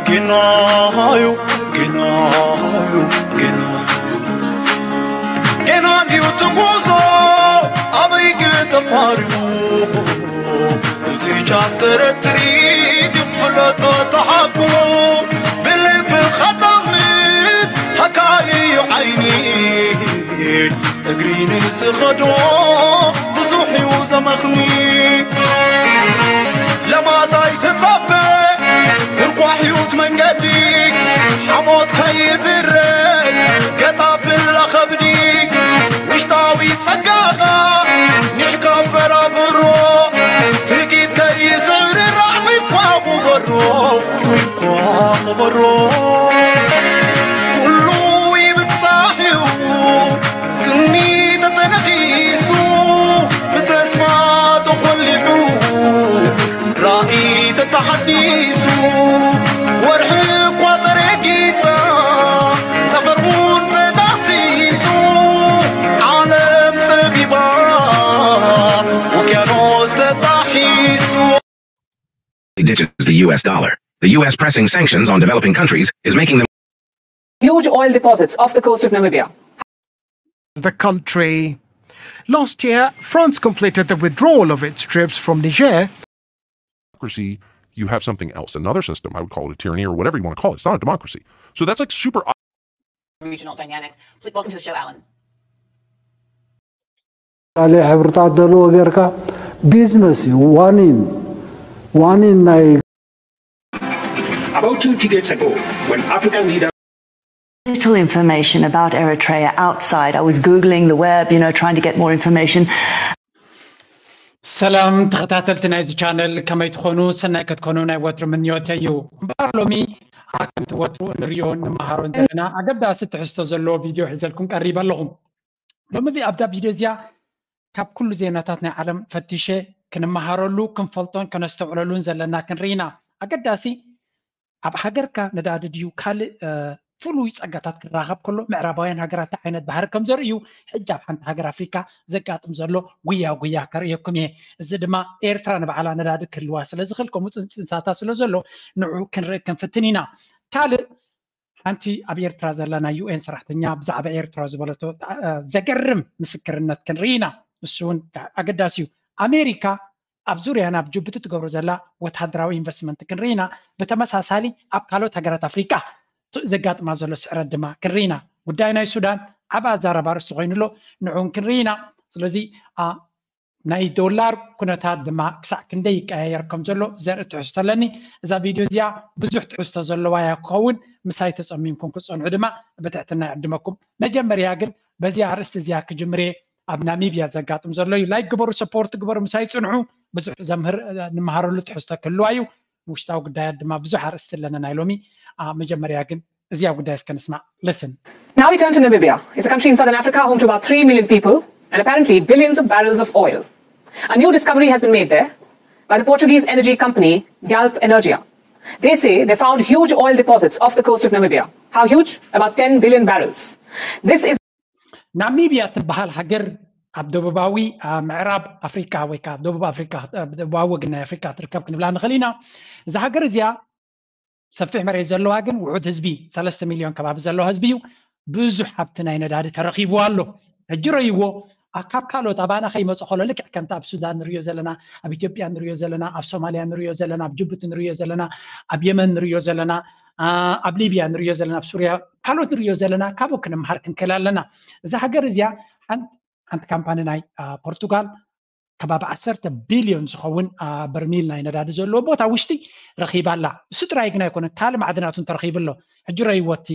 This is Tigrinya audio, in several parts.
ጌናዩ ጌናዩ ጌና ጌና ድዩ ትጉዞ ኣበይ ተፋሪሙ እቲ ጫፍ ተረትሪት ፍለጦ ተሓቁ ብልቢ ኸጠምት ሃካይዩ ዓይኒ እግሪ ንዝኸዶ ብዙሕ እዩ ዘመኽኒ ለማዛይ ትጸበ ርኳሕ ህይወት መንገዲ ሓሞት ከይዝረግ ገጣ ብላ ኸብዲ ውሽጣዊ ጸጋኻ ኒሕካ በራብሮ ትጊት ከይዝርራዕ ሚኳ ቁበሮ ሚኳ ቁበሮ ኩሉ ይብጻሕ እዩ ስኒ ተተነኺሱ ብተስፋ ተኾሊዑ ራእይ ተተሓዲሱ ወርሒ እኳ ተረጊጻ ጠፈር እውን ተዳህሲሱ ዓለም ጸቢባ ውቅያኖስ ተጣሒሱ ditches the U S dollar. The U S pressing sanctions on developing countries is making them Huge oil deposits off the coast of Namibia. The country. Last year, France completed the withdrawal of its troops from Niger. Democracy, you have something else, another system. I would call it a tyranny or whatever you want to call it. It's not a democracy. So that's like super regional dynamics. Welcome to the show, Alan. ካልእ ሕብርታት ዘለዎ ጌርካ ቢዝነስ እዩ ዋኒን ዋኒን ናይ About twenty days ago, when African leaders Little information about Eritrea outside. I was Googling the web, you know, trying to get more information. ሰላም ተኸታተልቲ ናይዚ ቻነል ከመይ ትኾኑ ሰናይ ከትኮኑ ናይ ወትሩ ምንዮተ እዩ እምበኣር ሎሚ ከምቲ ወትሩ ንሪኦ ንመሃሮን ዘለና ኣገዳሲ ትሕዝቶ ዘለዎ ቪድዮ ሒዘልኩም ቀሪበ ኣለኹም ሎሚ ኣብዛ ቪድዮ እዚኣ ካብ ኩሉ ዜናታት ናይ ዓለም ፈቲሸ ክንመሃረሉ ክንፈልጦን ከነስተውዕለሉን ዘለና ክንርኢ ኢና ኣገዳሲ ኣብ ሃገርካ ነዳዲ ድዩ ካልእ ፍሉይ ጸጋታት ክራኸብ ከሎ ምዕራባውያን ሃገራት ዓይነት ባህሪ ከም ዘርእዩ ሕጂ ኣብ ሓንቲ ሃገር ኣፍሪካ ዘጋጥም ዘሎ ጉያ ጉያ ከርእየኩም እየ እዚ ድማ ኤርትራ ንባዕላ ነዳዲ ክህልዋ ስለ ዝኽእል ከምኡ ጽንጽንሳታ ስለ ዘሎ ንዑ ክንርኢ ክንፍትን ኢና ካልእ ሓንቲ ኣብ ኤርትራ ዘላ ናይ ዩኤን ሰራሕተኛ ብዛዕባ ኤርትራ ዝበለቶ ዘገርም ምስክርነት ክንርኢ ኢና እሱ እውን ኣገዳሲ እዩ ኣሜሪካ ኣብ ዙርያና ኣብ ጅቡቲ ትገብሮ ዘላ ወታደራዊ ኢንቨስትመንት ክንርኢ ኢና ብተመሳሳሊ ኣብ ካልኦት ሃገራት ኣፍሪቃ ዘጋጥማ ዘሎ ስዕረት ድማ ክንርኢ ኢና ጉዳይ ናይ ሱዳን ዓብ ኣዛረባ ርእሲ ኮይኑ ኣሎ ንዑን ክንርኢ ኢና ስለዚ ናይ ዶላር ኩነታት ድማ ክሳዕ ክንደይ ይቀያየር ከም ዘሎ ዘርኢ ትሕዝቶ ኣለኒ እዛ ቪድዮ እዚኣ ብዙሕ ትሕዝቶ ዘለዋ እያ ክኸውን ምሳይ ተፀሚምኩም ክፀንሑ ድማ ብትሕትና ይዕድመኩም መጀመርያ ግን በዚ ኣርእስቲ እዚኣ ክጅምር እየ ኣብ ናሚብያ ዘጋጥም ዘሎ እዩ ላይክ ግበሩ ሰፖርት ግበሩ ምሳይ ጽንሑ ብዙሕ ዘምህር ንምሃረሉ ትሕዝቶ ክህልዋ እዩ ውሽጣዊ ጉዳያት ድማ ብዙሕ ኣርእስቲ ኣለና ናይ ሎሚ መጀመርያ ግን እዚኣ ጉዳይ እስከ ንስማዕ listen Now we turn to Namibia. It's a country in southern Africa home to about three million people and apparently billions of barrels of oil. A new discovery has been made there by the Portuguese energy company Galp Energia. They say they found huge oil deposits off the coast of Namibia. How huge? About ten billion barrels. This is ናሚብያ ትበሃል ሃገር ኣብ ደቡባዊ ምዕራብ ኣፍሪካ ወይ ከዓ ደቡብ ኣፍሪካ ደቡባዊ ወግን ናይ ኣፍሪካ ትርከብ ክንብላ ንኽእል ኢና እዛ ሃገር እዚኣ ሰፊሕ መሬት ዘለዋ ግን ውሑድ ህዝቢ ሰለስተ ሚልዮን ከባቢ ዘለዋ ህዝቢ እዩ ብዙሕ ሃብቲ ናይ ነዳዲ ተረኺቡ ኣሎ ሕጂ ረይዎ ካብ ካልኦት ኣባና ከይመፁ ከሎ ልክዕ ከምቲ ኣብ ሱዳን ንሪዮ ዘለና ኣብ ኢትዮጵያ ንሪዮ ዘለና ኣብ ሶማልያ ንሪዮ ዘለና ኣብ ጅቡቲ ንሪዮ ዘለና ኣብ የመን ንሪዮ ዘለና ኣብ ሊብያ ንሪዮ ዘለና ኣብ ሱርያ ካልኦት ንሪዮ ዘለና ካብኡ ክንምሃር ክንክእል ኣለና እዛ ሃገር እዚኣ ሓንቲ ካምፓኒ ናይ ፖርቱጋል ከባቢ ዓሰርተ ቢልዮን ዝኸውን በርሚል ናይ ነዳዲ ዘለዎ ቦታ ውሽጢ ረኺባ ኣላ። እሱ ጥራይ ግን ኣይኮነን፣ ካልእ ማዕድናት እውን ተረኺቡ ኣሎ። ሕጂ ረእይዎ እቲ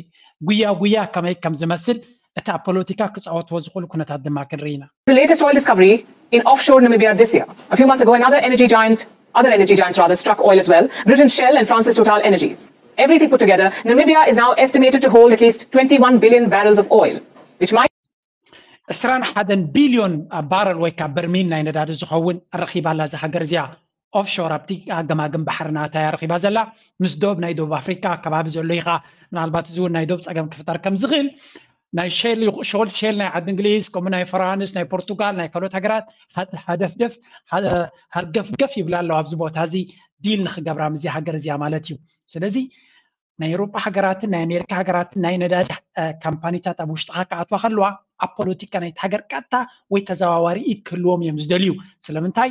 ጉያ ጉያ ከመይ ከም ዝመስል፣ እቲ ኣብ ፖለቲካ ክጻወትዎ ዝኽእሉ ኩነታት ድማ ክንርኢ ኢና። The latest oil discovery in offshore Namibia this year. A few months ago, another energy giant, other energy giants rather, struck oil as well. British Shell and France's Total Energies. Everything put together, Namibia is now estimated to hold at least twenty-one billion barrels of oil, which might ዕስራን ሓደን ቢልዮን ባረል ወይ ካብ በርሚል ናይ ነዳዲ ዝኸውን ረኺባ ኣላ እዛ ሃገር እዚኣ። ኦፍሾር ኣብቲ ኣገማግም ባሕርና እታ እያ ረኺባ ዘላ። ምስ ዶብ ናይ ደቡብ ኣፍሪካ ኣከባቢ ዘሎ ኢኻ። ምናልባት እዚ እውን ናይ ዶብ ፀገም ክፍጠር ከም ዝኽእል ናይ ሼል ሾል ሼል ናይ ዓዲ እንግሊዝ ከምኡ ናይ ፈራንስ ናይ ፖርቱጋል ናይ ካልኦት ሃገራት ሃደፍደፍ ሃርገፍገፍ ይብላ ኣለዋ ኣብዚ ቦታ እዚ ዲል ንክገብራ ምስዚ ሃገር እዚኣ ማለት እዩ። ስለዚ ናይ ኤውሮጳ ሃገራትን ናይ ኣሜሪካ ሃገራትን ናይ ነዳዲ ካምፓኒታት ኣብ ውሽጥኻ ክኣትዋ ከለዋ ኣብ ፖለቲካ ናይቲ ሃገር ቀጥታ ወይ ተዘዋዋሪ ኢድ ክህልዎም እዮም ዝደልዩ። ስለምንታይ?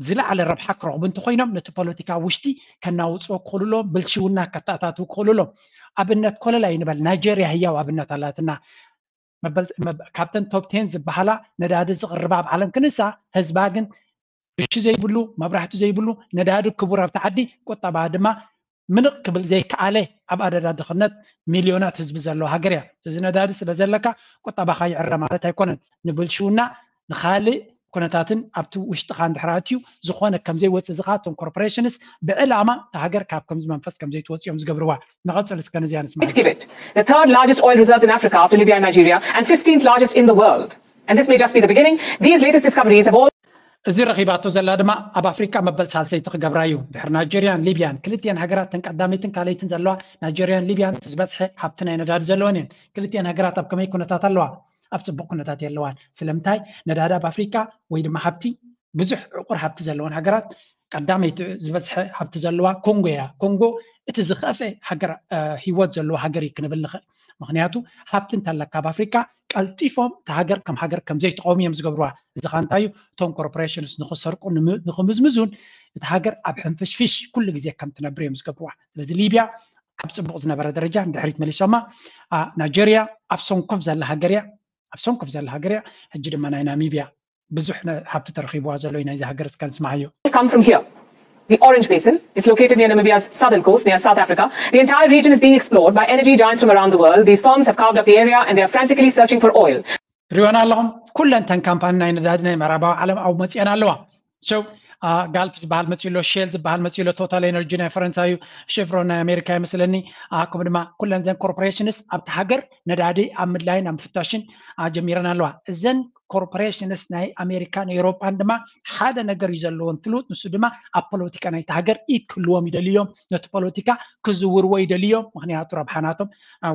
ዝለዓለ ረብሓ ክረኽቡ እንተኮይኖም ነቲ ፖለቲካ ውሽጢ ከናውፅዎ ክኽእሉ ኣለዎም። ብልሽውና ከተኣታትው ክኽእሉ ኣለዎም። ኣብነት ኮለል ኣይንበል፣ ናይጀርያ ህያው ኣብነት ኣላትና። መበል- መብ- ካብተን ቶፕ ቴን ዝበሃላ ነዳዲ ዝቕርባ ኣብ ዓለም ክንሳ፣ ህዝባ ግን ብሽ ዘይብሉ፣ መብራህቲ ዘይብሉ፣ ነዳዲ ክቡር ኣብቲ ዓዲ፣ ቁጠባ ድማ ምንቕ ክብል ዘይከኣለ፣ ኣብ ኣደዳ ድኽነት ሚልዮናት ህዝቢ ዘለዎ ሃገር እያ። እዚ ነዳዲ ስለ ዘለካ ቁጠባኻ ይዕረ ማለት ኣይኮነን። ንብልሽውና፣ ንኻልእ ኩነታትን ኣብቲ ውሽጥኻ እንድሕር ኣትዩ ዝኾነ ከም ዘይወፅእ ዝኸኣቶም ኮርፖሬሽንስ ብዕላማ እታ ሃገር ካብ ከምዚ መንፈስ ከም ዘይትወፅእ እዮም ዝገብርዋ። ንቐፅል እስከ ነዚኣ ንስማ። Give it. The third largest oil reserves in Africa after Libya and Nigeria, and fifteenth largest in the world. And this may just be the beginning. These latest discoveries have all እዚ ረኺባቶ ዘላ ድማ ኣብ ኣፍሪካ መበል ሳልሰይቲ ክገብራ እዩ። ድሕሪ ናይጀርያን ሊብያን ክልቲኤን ሃገራት ተን ቀዳመይትን ካልኣይትን ዘለዋ ናይጀርያን ሊብያን ዝበዝሐ ሃብቲ ናይ ነዳዲ ዘለወን እየን። ክልቲኤን ሃገራት ኣብ ከመይ ኩነታት ኣለዋ? ኣብ ፅቡቅ ኩነታት የለዋን። ስለምንታይ? ነዳዲ ኣብ ኣፍሪካ ወይ ድማ ሃብቲ ብዙሕ ዕቁር ሃብቲ ዘለወን ሃገራት ቀዳመይቲ ዝበዝሐ ሃብቲ ዘለዋ ኮንጎ እያ። ኮንጎ እቲ ዝኸፍአ ሃገር እ፣ ህይወት ዘለዎ ሃገር እዩ ክንብል ንኽእል። ምክንያቱ ሃብቲ እንተለካ ኣብ ኣፍሪካ ቀልጢፎም እቲ ሃገር ከም ሃገር ከም ዘይትቀውም እዮም ዝገብርዋ። እዚ ካ እንታይ እዩ? እቶም ኮርፖሬሽንስ ንክሰርቁ ንክምዝምዙን እቲ ሃገር ኣብ ሕንፍሽፍሽ ኩሉ ግዜ ከም ትነብር እዮም ዝገብርዋ። ስለዚ ሊብያ ኣብ ፅቡቅ ዝነበረ ደረጃ ንድሕሪት መሊሶማ። ናይጀርያ ኣብ ሰንኮፍ ዘላ ሃገር እያ። ኣብ ሰንኮፍ ዘላ ሃገር እያ። ሕጂ ድማ ናይ ናሚብያ ብዙሕ ሃብቲ ተረኺብዋ ዘሎ እዩ። ናይዚ ሃገር እስከ ንስማዓዮ። Come from here. The Orange Basin. It's located near Namibia's southern coast, near South Africa. The entire region is being explored by energy giants from around the world. These firms have carved up the area and they are frantically searching for oil. ትሪኦና ኣለኹም። ኩለን ተን ካምፓኒ ናይ ነዳዲ ናይ ምዕራባዊ ዓለም ኣብኡ መፂአን ኣለዋ። So ጋልፕ ዝበሃል መፂኡ ኣሎ፣ ሼል ዝበሃል መፂኡ ኣሎ፣ ቶታል ኤነርጂ ናይ ፈረንሳዩ፣ ሼቭሮን ናይ ኣሜሪካ ይመስለኒ። ከምኡ ድማ ኩለን ዘን ኮርፖሬሽንስ ኣብቲ ሃገር ነዳዲ ኣብ ምድላይን ኣብ ምፍታሽን ጀሚረን ኣለዋ። እዘን ኮርፖሬሽንስ ናይ ኣሜሪካን ኤውሮጳን ድማ ሓደ ነገር እዩ ዘለዎም ትሉት፣ ንሱ ድማ ኣብ ፖለቲካ ናይቲ ሃገር ኢድ ክህልዎም ይደልዮም፣ ነቲ ፖለቲካ ክዝውርዎ ይደልዮም። ምክንያቱ ረብሓናቶም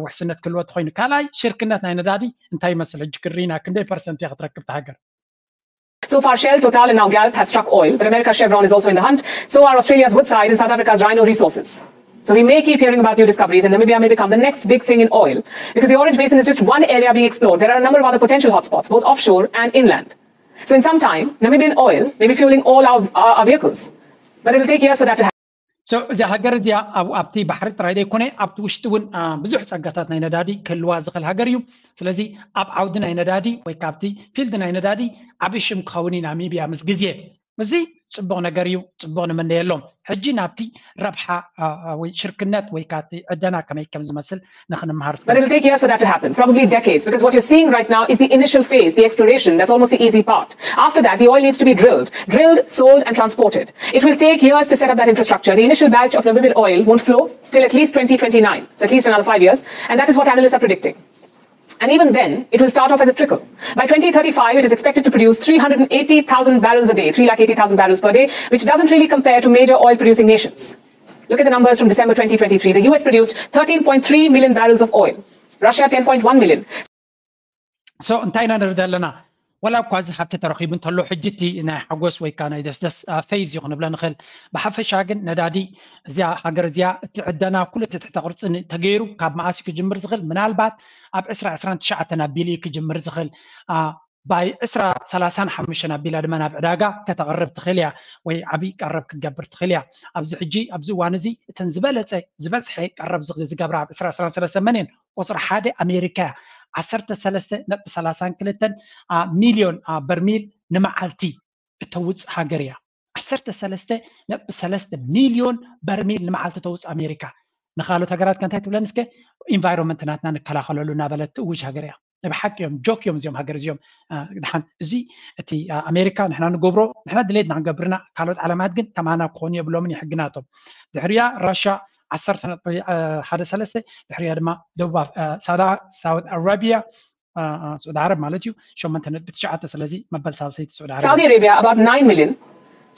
ውሕስነት ክህልዎ ተኮይኑ። ካልኣይ ሽርክነት ናይ ነዳዲ እንታይ ይመስል? ሕጂ ክሪና ክንደይ ፐርሰንት እያ ክትረክብ ሃገር? So far, Shell, Total, and now Galp have struck oil, but America's Chevron is also in the hunt. So are Australia's Woodside and South Africa's Rhino Resources. So we may keep hearing about new discoveries, and Namibia may become the next big thing in oil, because the Orange Basin is just one area being explored. There are a number of other potential hotspots, both offshore and inland. So in some time, Namibian oil may be fueling all our, our, our vehicles. But it'll take years for that to happen. So እዚ ሃገር እዚኣ ኣብቲ ባሕሪ ጥራይ ዘይኮነ ኣብቲ ውሽጢ እውን ብዙሕ ፀጋታት ናይ ነዳዲ ክህልዋ ዝኽእል ሃገር እዩ። ስለዚ ኣብ ዓውዲ ናይ ነዳዲ ወይ ካብቲ ፊልድ ናይ ነዳዲ ዓብዪ ሽም ክኸውን እዩ ናሚብያ ምስ ግዜ። እዚ ፅቡቕ ነገር እዩ፣ ፅቡቕ ንመነየሎም። ሕጂ ናብቲ ረብሓ ወይ ሽርክነት ወይ ካብቲ ዕደና ከመይ ከም ዝመስል ንክንምሃር But it'll take years for that to happen, probably decades, because what you're seeing right now is the initial phase, the exploration. That's almost the easy part. After that, the oil needs to be drilled, drilled, sold, and transported. It will take years to set up that infrastructure. The initial batch of Namibian oil won't flow till at least twenty twenty-nine, so at least another five years, and that is what analysts are predicting. And even then, it will start off as a trickle. By twenty thirty-five, it is expected to produce three hundred eighty thousand barrels a day, three lakh eighty thousand barrels per day, which doesn't really compare to major oil producing nations. Look at the numbers from December twenty twenty-three. The U S produced thirteen point three million barrels of oil, Russia ten point one million. So እንታይ ኢና ንርኢ ዘለና? ወላ እኳ እዚ ሃብቲ ተረኺቡ እንተሎ፣ ሕጂ እቲ ናይ ሓጎስ ወይ ከዓ ናይ ደስደስ ፌዝ እዩ ክንብሎ ንኽእል። ብሓፈሻ ግን ነዳዲ እዚኣ ሃገር እዚኣ እቲ ዕደና ኩሉ እቲ ትሕተ ቅርፂ ተገይሩ ካብ መኣስ ክጅምር ዝኽእል? ምናልባት ኣብ ዕስራ ዕስራን ትሽዓተን ኣቢሉ እዩ ክጅምር ዝኽእል። ባይ ዕስራ ሰላሳን ሓሙሽተን ኣቢላ ድማ ናብ ዕዳጋ ከተቕርብ ትኽእል እያ ወይ ዓብዪ ቀረብ ክትገብር ትኽእል እያ። ኣብዚ ሕጂ ኣብዚ እዋን እዚ እተን ዝበለፀ ዝበዝሐ ቀረብ ዝገብራ ኣብ ዕስራ ዕስራን ሰለስተ መን እየን? ቁፅሪ ሓደ ኣሜሪካ እያ። ዓሰርተ ሰለስተ ነጥቢ ሰላሳን ክልተን ሚልዮን በርሚል ንመዓልቲ እተውፅእ ሃገር እያ። ዓሰርተ ሰለስተ ነጥቢ ሰለስተ ሚልዮን በርሚል ንመዓልቲ ተውፅእ ኣሜሪካ። ንካልኦት ሃገራት ከ እንታይ ትብለን እስከ? ኢንቫይሮንመንት ናትና ንከላኸለሉ እናበለት ትእውጅ ሃገር እያ። ናይ ብሓቂ እዮም፣ ጆክ እዮም እዚኦም ሃገር እዚኦም። ድሓን እዚ እቲ ኣሜሪካ ንሕና ንገብሮ ንሕና ድሌትና ክንገብርና ካልኦት ዓለማት ግን ከማና ክኾኑ የብሎምን ይሕግናቶም። ድሕሪያ ራሻ ዓሰርተ ነጥቢ ሓደ ሰለስተ፣ ድሕሪያ ድማ ደቡብ ሳውዲ ኣረቢያ፣ ስዑዲ ዓረብ ማለት እዩ፣ ሸሞንተ ነጥቢ ትሽዓተ። ስለዚ መበል ሳልሰይቲ ስዑዲ ዓረብ። Saudi Arabia, about nine million.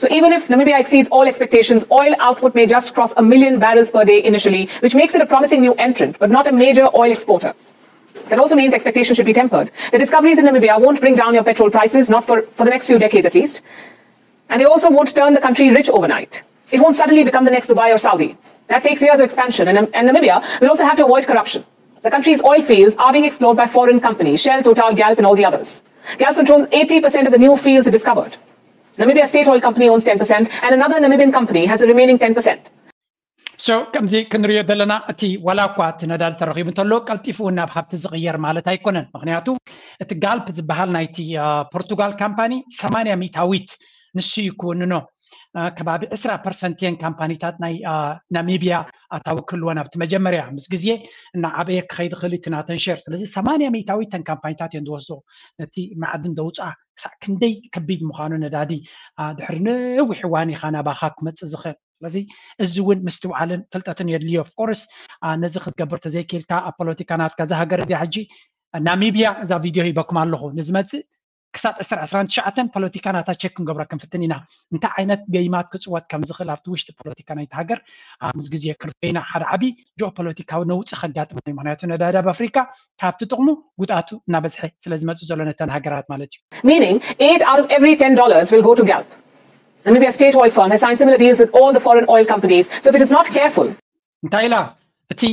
So even if Namibia exceeds all expectations, oil output may just cross a million barrels per day initially, which makes it a promising new entrant, but not a major oil exporter. That also means expectations should be tempered. The discoveries in Namibia won't bring down your petrol prices, not for, for the next few decades at least. And they also won't turn the country rich overnight. It won't suddenly become the next Dubai or Saudi. That takes years of expansion, and, and Namibia will also have to avoid corruption. The country's oil fields are being explored by foreign companies, Shell, Total, Galp, and all the others. Galp controls eighty percent of the new fields discovered. Namibia State Oil Company owns ten percent, and another Namibian company has the remaining ten percent. So ከምዚ ክንሪኦ ዘለና እቲ ዋላ እኳ እቲ ነዳዲ ተረኺቡ እንተሎ ቀልጢፉ ናብ ሃብቲ ዝቕየር ማለት ኣይኮነን። ምክንያቱ እቲ ጋልፕ ዝበሃል ናይቲ ፖርቱጋል ካምፓኒ ሰማንያ ሚታዊት ንሱ እዩ ክውንኖ። ከባቢ ዕስራ ፐርሰንት እየን ካምፓኒታት ናይ ናሚብያ ኣታዊ ክህልወን ኣብቲ መጀመርያ ምስ ግዜ እናዓበየ ክኸይድ ክእል እቲ ናተን ሸር። ስለዚ ሰማንያ ሚታዊት ተን ካምፓኒታት እየን ዝወስዶ ነቲ ማዕድን ደውፃ ክሳዕ ክንደይ ከቢድ ምዃኑ ነዳዲ ድሕሪ ነዊሕ እዋን ኢኻ ናባኻ ክመፅእ ዝኽእል። ስለዚ እዚ እውን ምስትውዓልን ፍልጠትን የድልዮ። ኦፍኮርስ ነዚ ክትገብር ተዘይክኢልካ ኣብ ፖለቲካ ናትካ እዛ ሃገር እዚኣ ሕጂ ናሚብያ እዛ ቪድዮ ሂበኩም ኣለኹ ንዝመፅእ ክሳብ ዕስራ ዕስራን ትሽዓተን ፖለቲካ ናታ ቸክ ክንገብራ ክንፍትን ኢና። እንታይ ዓይነት ገይማት ክፅወት ከም ዝኽእል ኣብቲ ውሽጢ ፖለቲካ ናይቲ ሃገር ምስ ግዜ ክንሪኦ ኢና። ሓደ ዓብዪ ጂኦፖለቲካዊ ነውፂ ከጋጥም እዩ። ምክንያቱ ነዳዲ ኣብ ኣፍሪካ ካብቲ ጥቕሙ ጉድኣቱ እናበዝሐ ስለ ዝመፅእ ዘሎ ነተን ሃገራት ማለት እዩ። Meaning, eight out of every ten dollars will go to Galp. Namibia State Oil Firm has signed similar deals with all the foreign oil companies. So if it is not careful, እንታይ ኢላ እቲ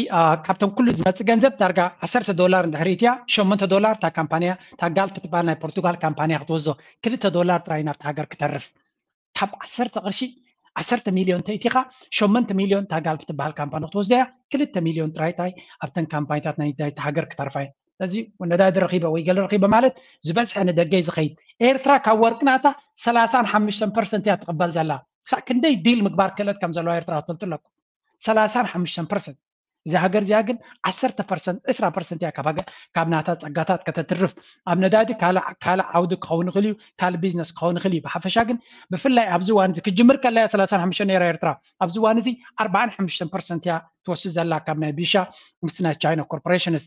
ካብቶም ኩሉ ዝመፅእ ገንዘብ ዳርጋ ዓሰርተ ዶላር እንድሕር እትያ ሸሞንተ ዶላር እታ ካምፓንያ እታ ጋልፕ ትበሃል ናይ ፖርቱጋል ካምፓንያ ክትወስዶ ክልተ ዶላር ጥራይ ናብቲ ሃገር ክተርፍ ካብ ዓሰርተ ቅርሺ ዓሰርተ ሚልዮን ተእቲኻ ሸሞንተ ሚልዮን እታ ጋልፕ ትበሃል ካምፓኒ ክትወስዶ እያ። ክልተ ሚልዮን ጥራይ ታይ ኣብተን ካምፓኒታት ናይ ናይቲ ሃገር ክተርፋ እየ። ስለዚ ነዳዲ ረኺበ ወይ ገለ ረኺበ ማለት ዝበዝሐ ንደገ እዩ ዝኸይድ። ኤርትራ ካብ ወርቂ ናታ ሰላሳን ሓሙሽተን ፐርሰንት እያ ትቕበል ዘላ። ክሳዕ ክንደይ ዲል ምግባር ክእለት ከም ዘለዋ ኤርትራ ክትፈልጡ ኣለኩም። ሰላሳን ሓሙሽተን ፐርሰንት እዛ ሃገር እዚኣ ግን ዓሰርተ ፐርሰንት ዕስራ ፐርሰንት እያ ካብ ናታ ፀጋታት ከተትርፍ። ኣብ ነዳዲ ካልእ ዓውዲ ክኸውን ይኽእል እዩ፣ ካልእ ቢዝነስ ክኸውን ይኽእል እዩ። ብሓፈሻ ግን ብፍላይ ኣብዚ እዋን እዚ ክጅምር ከላ እያ ሰላሳን ሓሙሽተን ነይራ ኤርትራ። ኣብዚ እዋን እዚ ኣርባዓን ሓሙሽተን ፐርሰንት እያ ትወስድ ዘላ ካብ ናይ ቢሻ ምስ ናይ ቻይና ኮርፖሬሽንስ።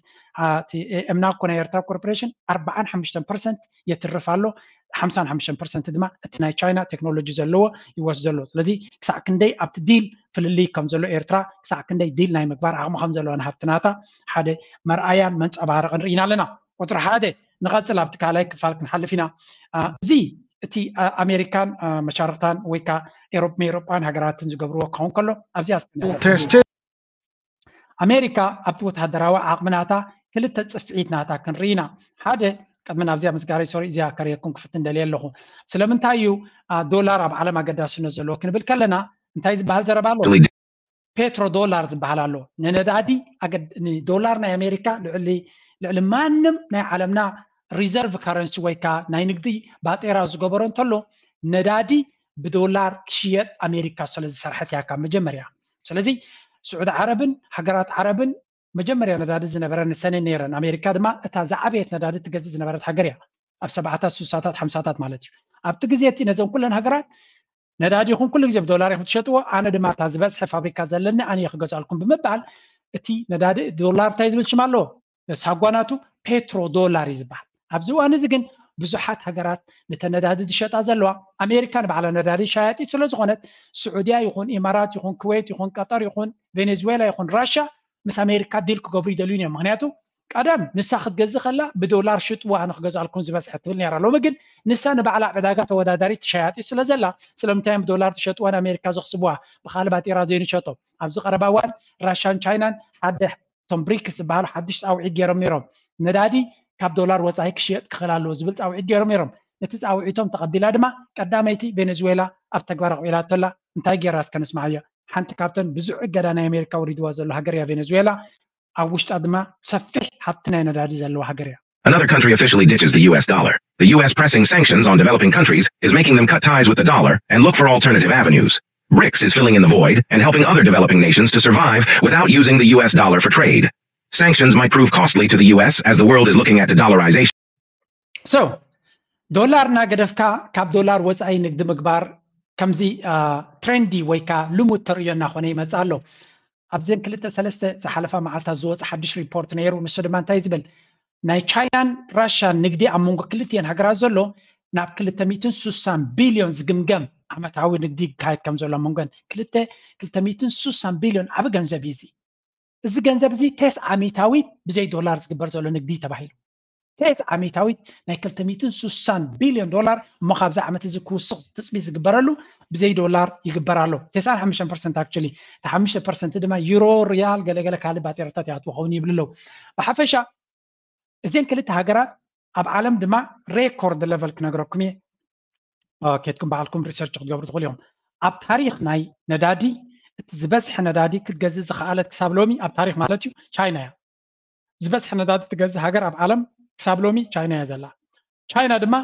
ኤምና እኮ ናይ ኤርትራ ኮርፖሬሽን ኣርባዓን ሓሙሽተን ፐርሰንት የትርፍ ኣሎ። ሓምሳን ሓሙሽተን ፐርሰንት ድማ እቲ ናይ ቻይና ቴክኖሎጂ ዘለዎ ይወስድ ዘሎ። ስለዚ ክሳዕ ክንደይ ኣብቲ ዲል ፍልልይ ከም ዘሎ ኤርትራ ክሳዕ ክንደይ ዲል ናይ ምግባር ዓቕሚ ከም ዘለዋ ንሃብትናታ ሓደ መርኣያን መንፀባረቕን ርኢና ኣለና። ቁፅሪ ሓደ ንቐፅል ኣብቲ ካልኣይ ክፋል ክንሓልፍ ኢና። እዚ እቲ ኣሜሪካን መሻርክታን ወይ ከዓ ኤሮፕ ኤሮጳን ሃገራትን ዝገብርዎ ክኸውን ከሎ ኣብዚኣ ኣሜሪካ ኣብቲ ወተሃደራዊ ዓቕሚ ናታ ክልተ ፅፍዒት ናታ ክንርኢ ኢና። ሓደ ቅድሚ ናብዚኣ ምስጋሪ ሶሪ እዚኣ ከርእየኩም ክፍትን ደልየ ኣለኹ። ስለምንታይ እዩ ዶላር ኣብ ዓለም ኣገዳስነት ዘለዎ ክንብል ከለና እንታይ ዝበሃል ዘረባ ኣሎ? ፔትሮ ዶላር ዝበሃል ኣሎ። ንነዳዲ ዶላር ናይ ኣሜሪካ ልዕሊ ማንም ናይ ዓለምና ሪዘርቭ ካረንሲ ወይ ከዓ ናይ ንግዲ ባጤራ ዝገበሮ እንተሎ ነዳዲ ብዶላር ክሽየጥ ኣሜሪካ ስለ ዝሰርሐት እያ ካብ መጀመርያ። ስለዚ ስዑዲ ዓረብን ሃገራት ዓረብን መጀመርያ ነዳዲ ዝነበረ ንሰነ ነይረን። ኣሜሪካ ድማ እታ ዝዓበየት ነዳዲ ትገዝእ ዝነበረት ሃገር እያ ኣብ ሰብዓታት ሱሳታት ሓምሳታት ማለት እዩ። ኣብቲ ግዜ እቲ ነዘን ኩለን ሃገራት ነዳዲ ይኹን ኩሉ ግዜ ብዶላር ኢኹም ትሸጥዎ፣ ኣነ ድማ እታ ዝበዝሐ ፋብሪካ ዘለኒ ኣነ እየ ክገዝኣልኩም ብምባል እቲ ነዳዲ ዶላር እንታይ ዝብል ሽም ኣለዎ? ሳጓናቱ ፔትሮ ዶላር እዩ ዝበሃል። ኣብዚ እዋን እዚ ግን ብዙሓት ሃገራት ነተ ነዳዲ ዝሸጣ ዘለዋ ኣሜሪካ ንባዕላ ነዳዲ ሻያጢት ስለ ዝኾነት ስዑድያ ይኹን ኢማራት ይኹን ኩዌት ይኹን ቀጠር ይኹን ቬኔዙዌላ ይኹን ራሻ ምስ ኣሜሪካ ዲል ክገብሩ ይደልዩን እዮም። ምክንያቱ ቀደም ንሳ ክትገዝእ ከላ ብዶላር ሽጥዋ ኣነ ክገዝኣልኩም ዝበዝሐ ትብል ነራ። ሎሚ ግን ንሳ ንባዕላ ዕዳጋ ተወዳዳሪት ትሸያጢ ስለ ዘላ ስለምንታይ እዮም ብዶላር ትሸጥዋ ንኣሜሪካ ዘኽስብዋ ብካልእ ባጤራ ዘይንሸጦ? ኣብዚ ቀረባ እዋን ራሻን ቻይናን ሓደ እቶም ብሪክስ ዝበሃሉ ሓድሽ ፃውዒት ገይሮም ነይሮም። ነዳዲ ካብ ዶላር ወፃኢ ክሽየጥ ክኽእል ኣለዎ ዝብል ፃውዒት ገይሮም ነይሮም። ነቲ ፃውዒቶም ተቐቢላ ድማ ቀዳመይቲ ቬኔዙዌላ ኣብ ተግባር ኣቕቢላቶላ። እንታይ ገይራ እስከ ንስማዓዮ። ሓንቲ ካብተን ብዙሕ እገዳ ናይ ኣሜሪካ ወሪድዋ ዘሎ ሃገር እያ ቬኔዙዌላ። ኣብ ውሽጣ ድማ ሰፊሕ ሃብቲ ናይ ነዳዲ ዘለዋ ሃገር እያ። Another country officially ditches the U S dollar. The U S pressing sanctions on developing countries is making them cut ties with the dollar and look for alternative avenues. BRICS is filling in the void and helping other developing nations to survive without using the U S dollar for trade. Sanctions might prove costly to the U S as the world is looking at de-dollarization. So ዶላር እናገደፍካ ካብ ዶላር ወፃኢ ንግዲ ምግባር ከምዚ ትሬንዲ ወይ ከዓ ልሙድ ተርእዮ እናኾነ ይመፅእ ኣሎ። ኣብዘን ክልተ ሰለስተ ዝሓለፋ መዓልታት ዝወፀ ሓድሽ ሪፖርት ነይሩ። ንሱ ድማ እንታይ ዝብል ናይ ቻይናን ራሻን ንግዲ ኣብ መንጎ ክልቲኤን ሃገራት ዘሎ ናብ ክልተ ሚእትን ሱሳን ቢልዮን ዝግምገም ዓመታዊ ንግዲ ይካየድ ከም ዘሎ ኣብ መንጎን ክልተ ክልተ ሚእትን ሱሳን ቢልዮን ዓቢ ገንዘብ እዩ። እዚ እዚ ገንዘብ እዚ ተስዓ ሚታዊት ብዘይ ዶላር ዝግበር ዘሎ ንግዲ ተባሂሉ። ተስዓ ሚእታዊት ናይ ክልተ ሚእትን ስሳን ቢልዮን ዶላር እሞ ካብዚ ዓመት እዚ ክውስኽ ትፅቢት ዝግበረሉ ብዘይ ዶላር ይግበር ኣሎ። ተስዓን ሓሙሽተን ፐርሰንት actually፣ እቲ ሓሙሽተ ፐርሰንት ድማ ዩሮ፣ ሪያል፣ ገለገለ ካልእ ባጤራታት ይኣትዎ ኸውን ይብል ኣለዉ። ብሓፈሻ እዘን ክልተ ሃገራት ኣብ ዓለም ድማ ሬኮርድ ለቨል ክነግረኩም እየ። ኬድኩም ባዕልኩም ሪሰርች ክትገብሩ ትኽእሉ ኢኹም። ኣብ ታሪኽ ናይ ነዳዲ እቲ ዝበዝሐ ነዳዲ ክትገዝእ ዝኸኣለት ክሳብ ሎሚ፣ ኣብ ታሪኽ ማለት እዩ፣ ቻይና እያ። ዝበዝሐ ነዳዲ ትገዝእ ሃገር ኣብ ዓለም ክሳብ ሎሚ ቻይና እያ ዘላ። ቻይና ድማ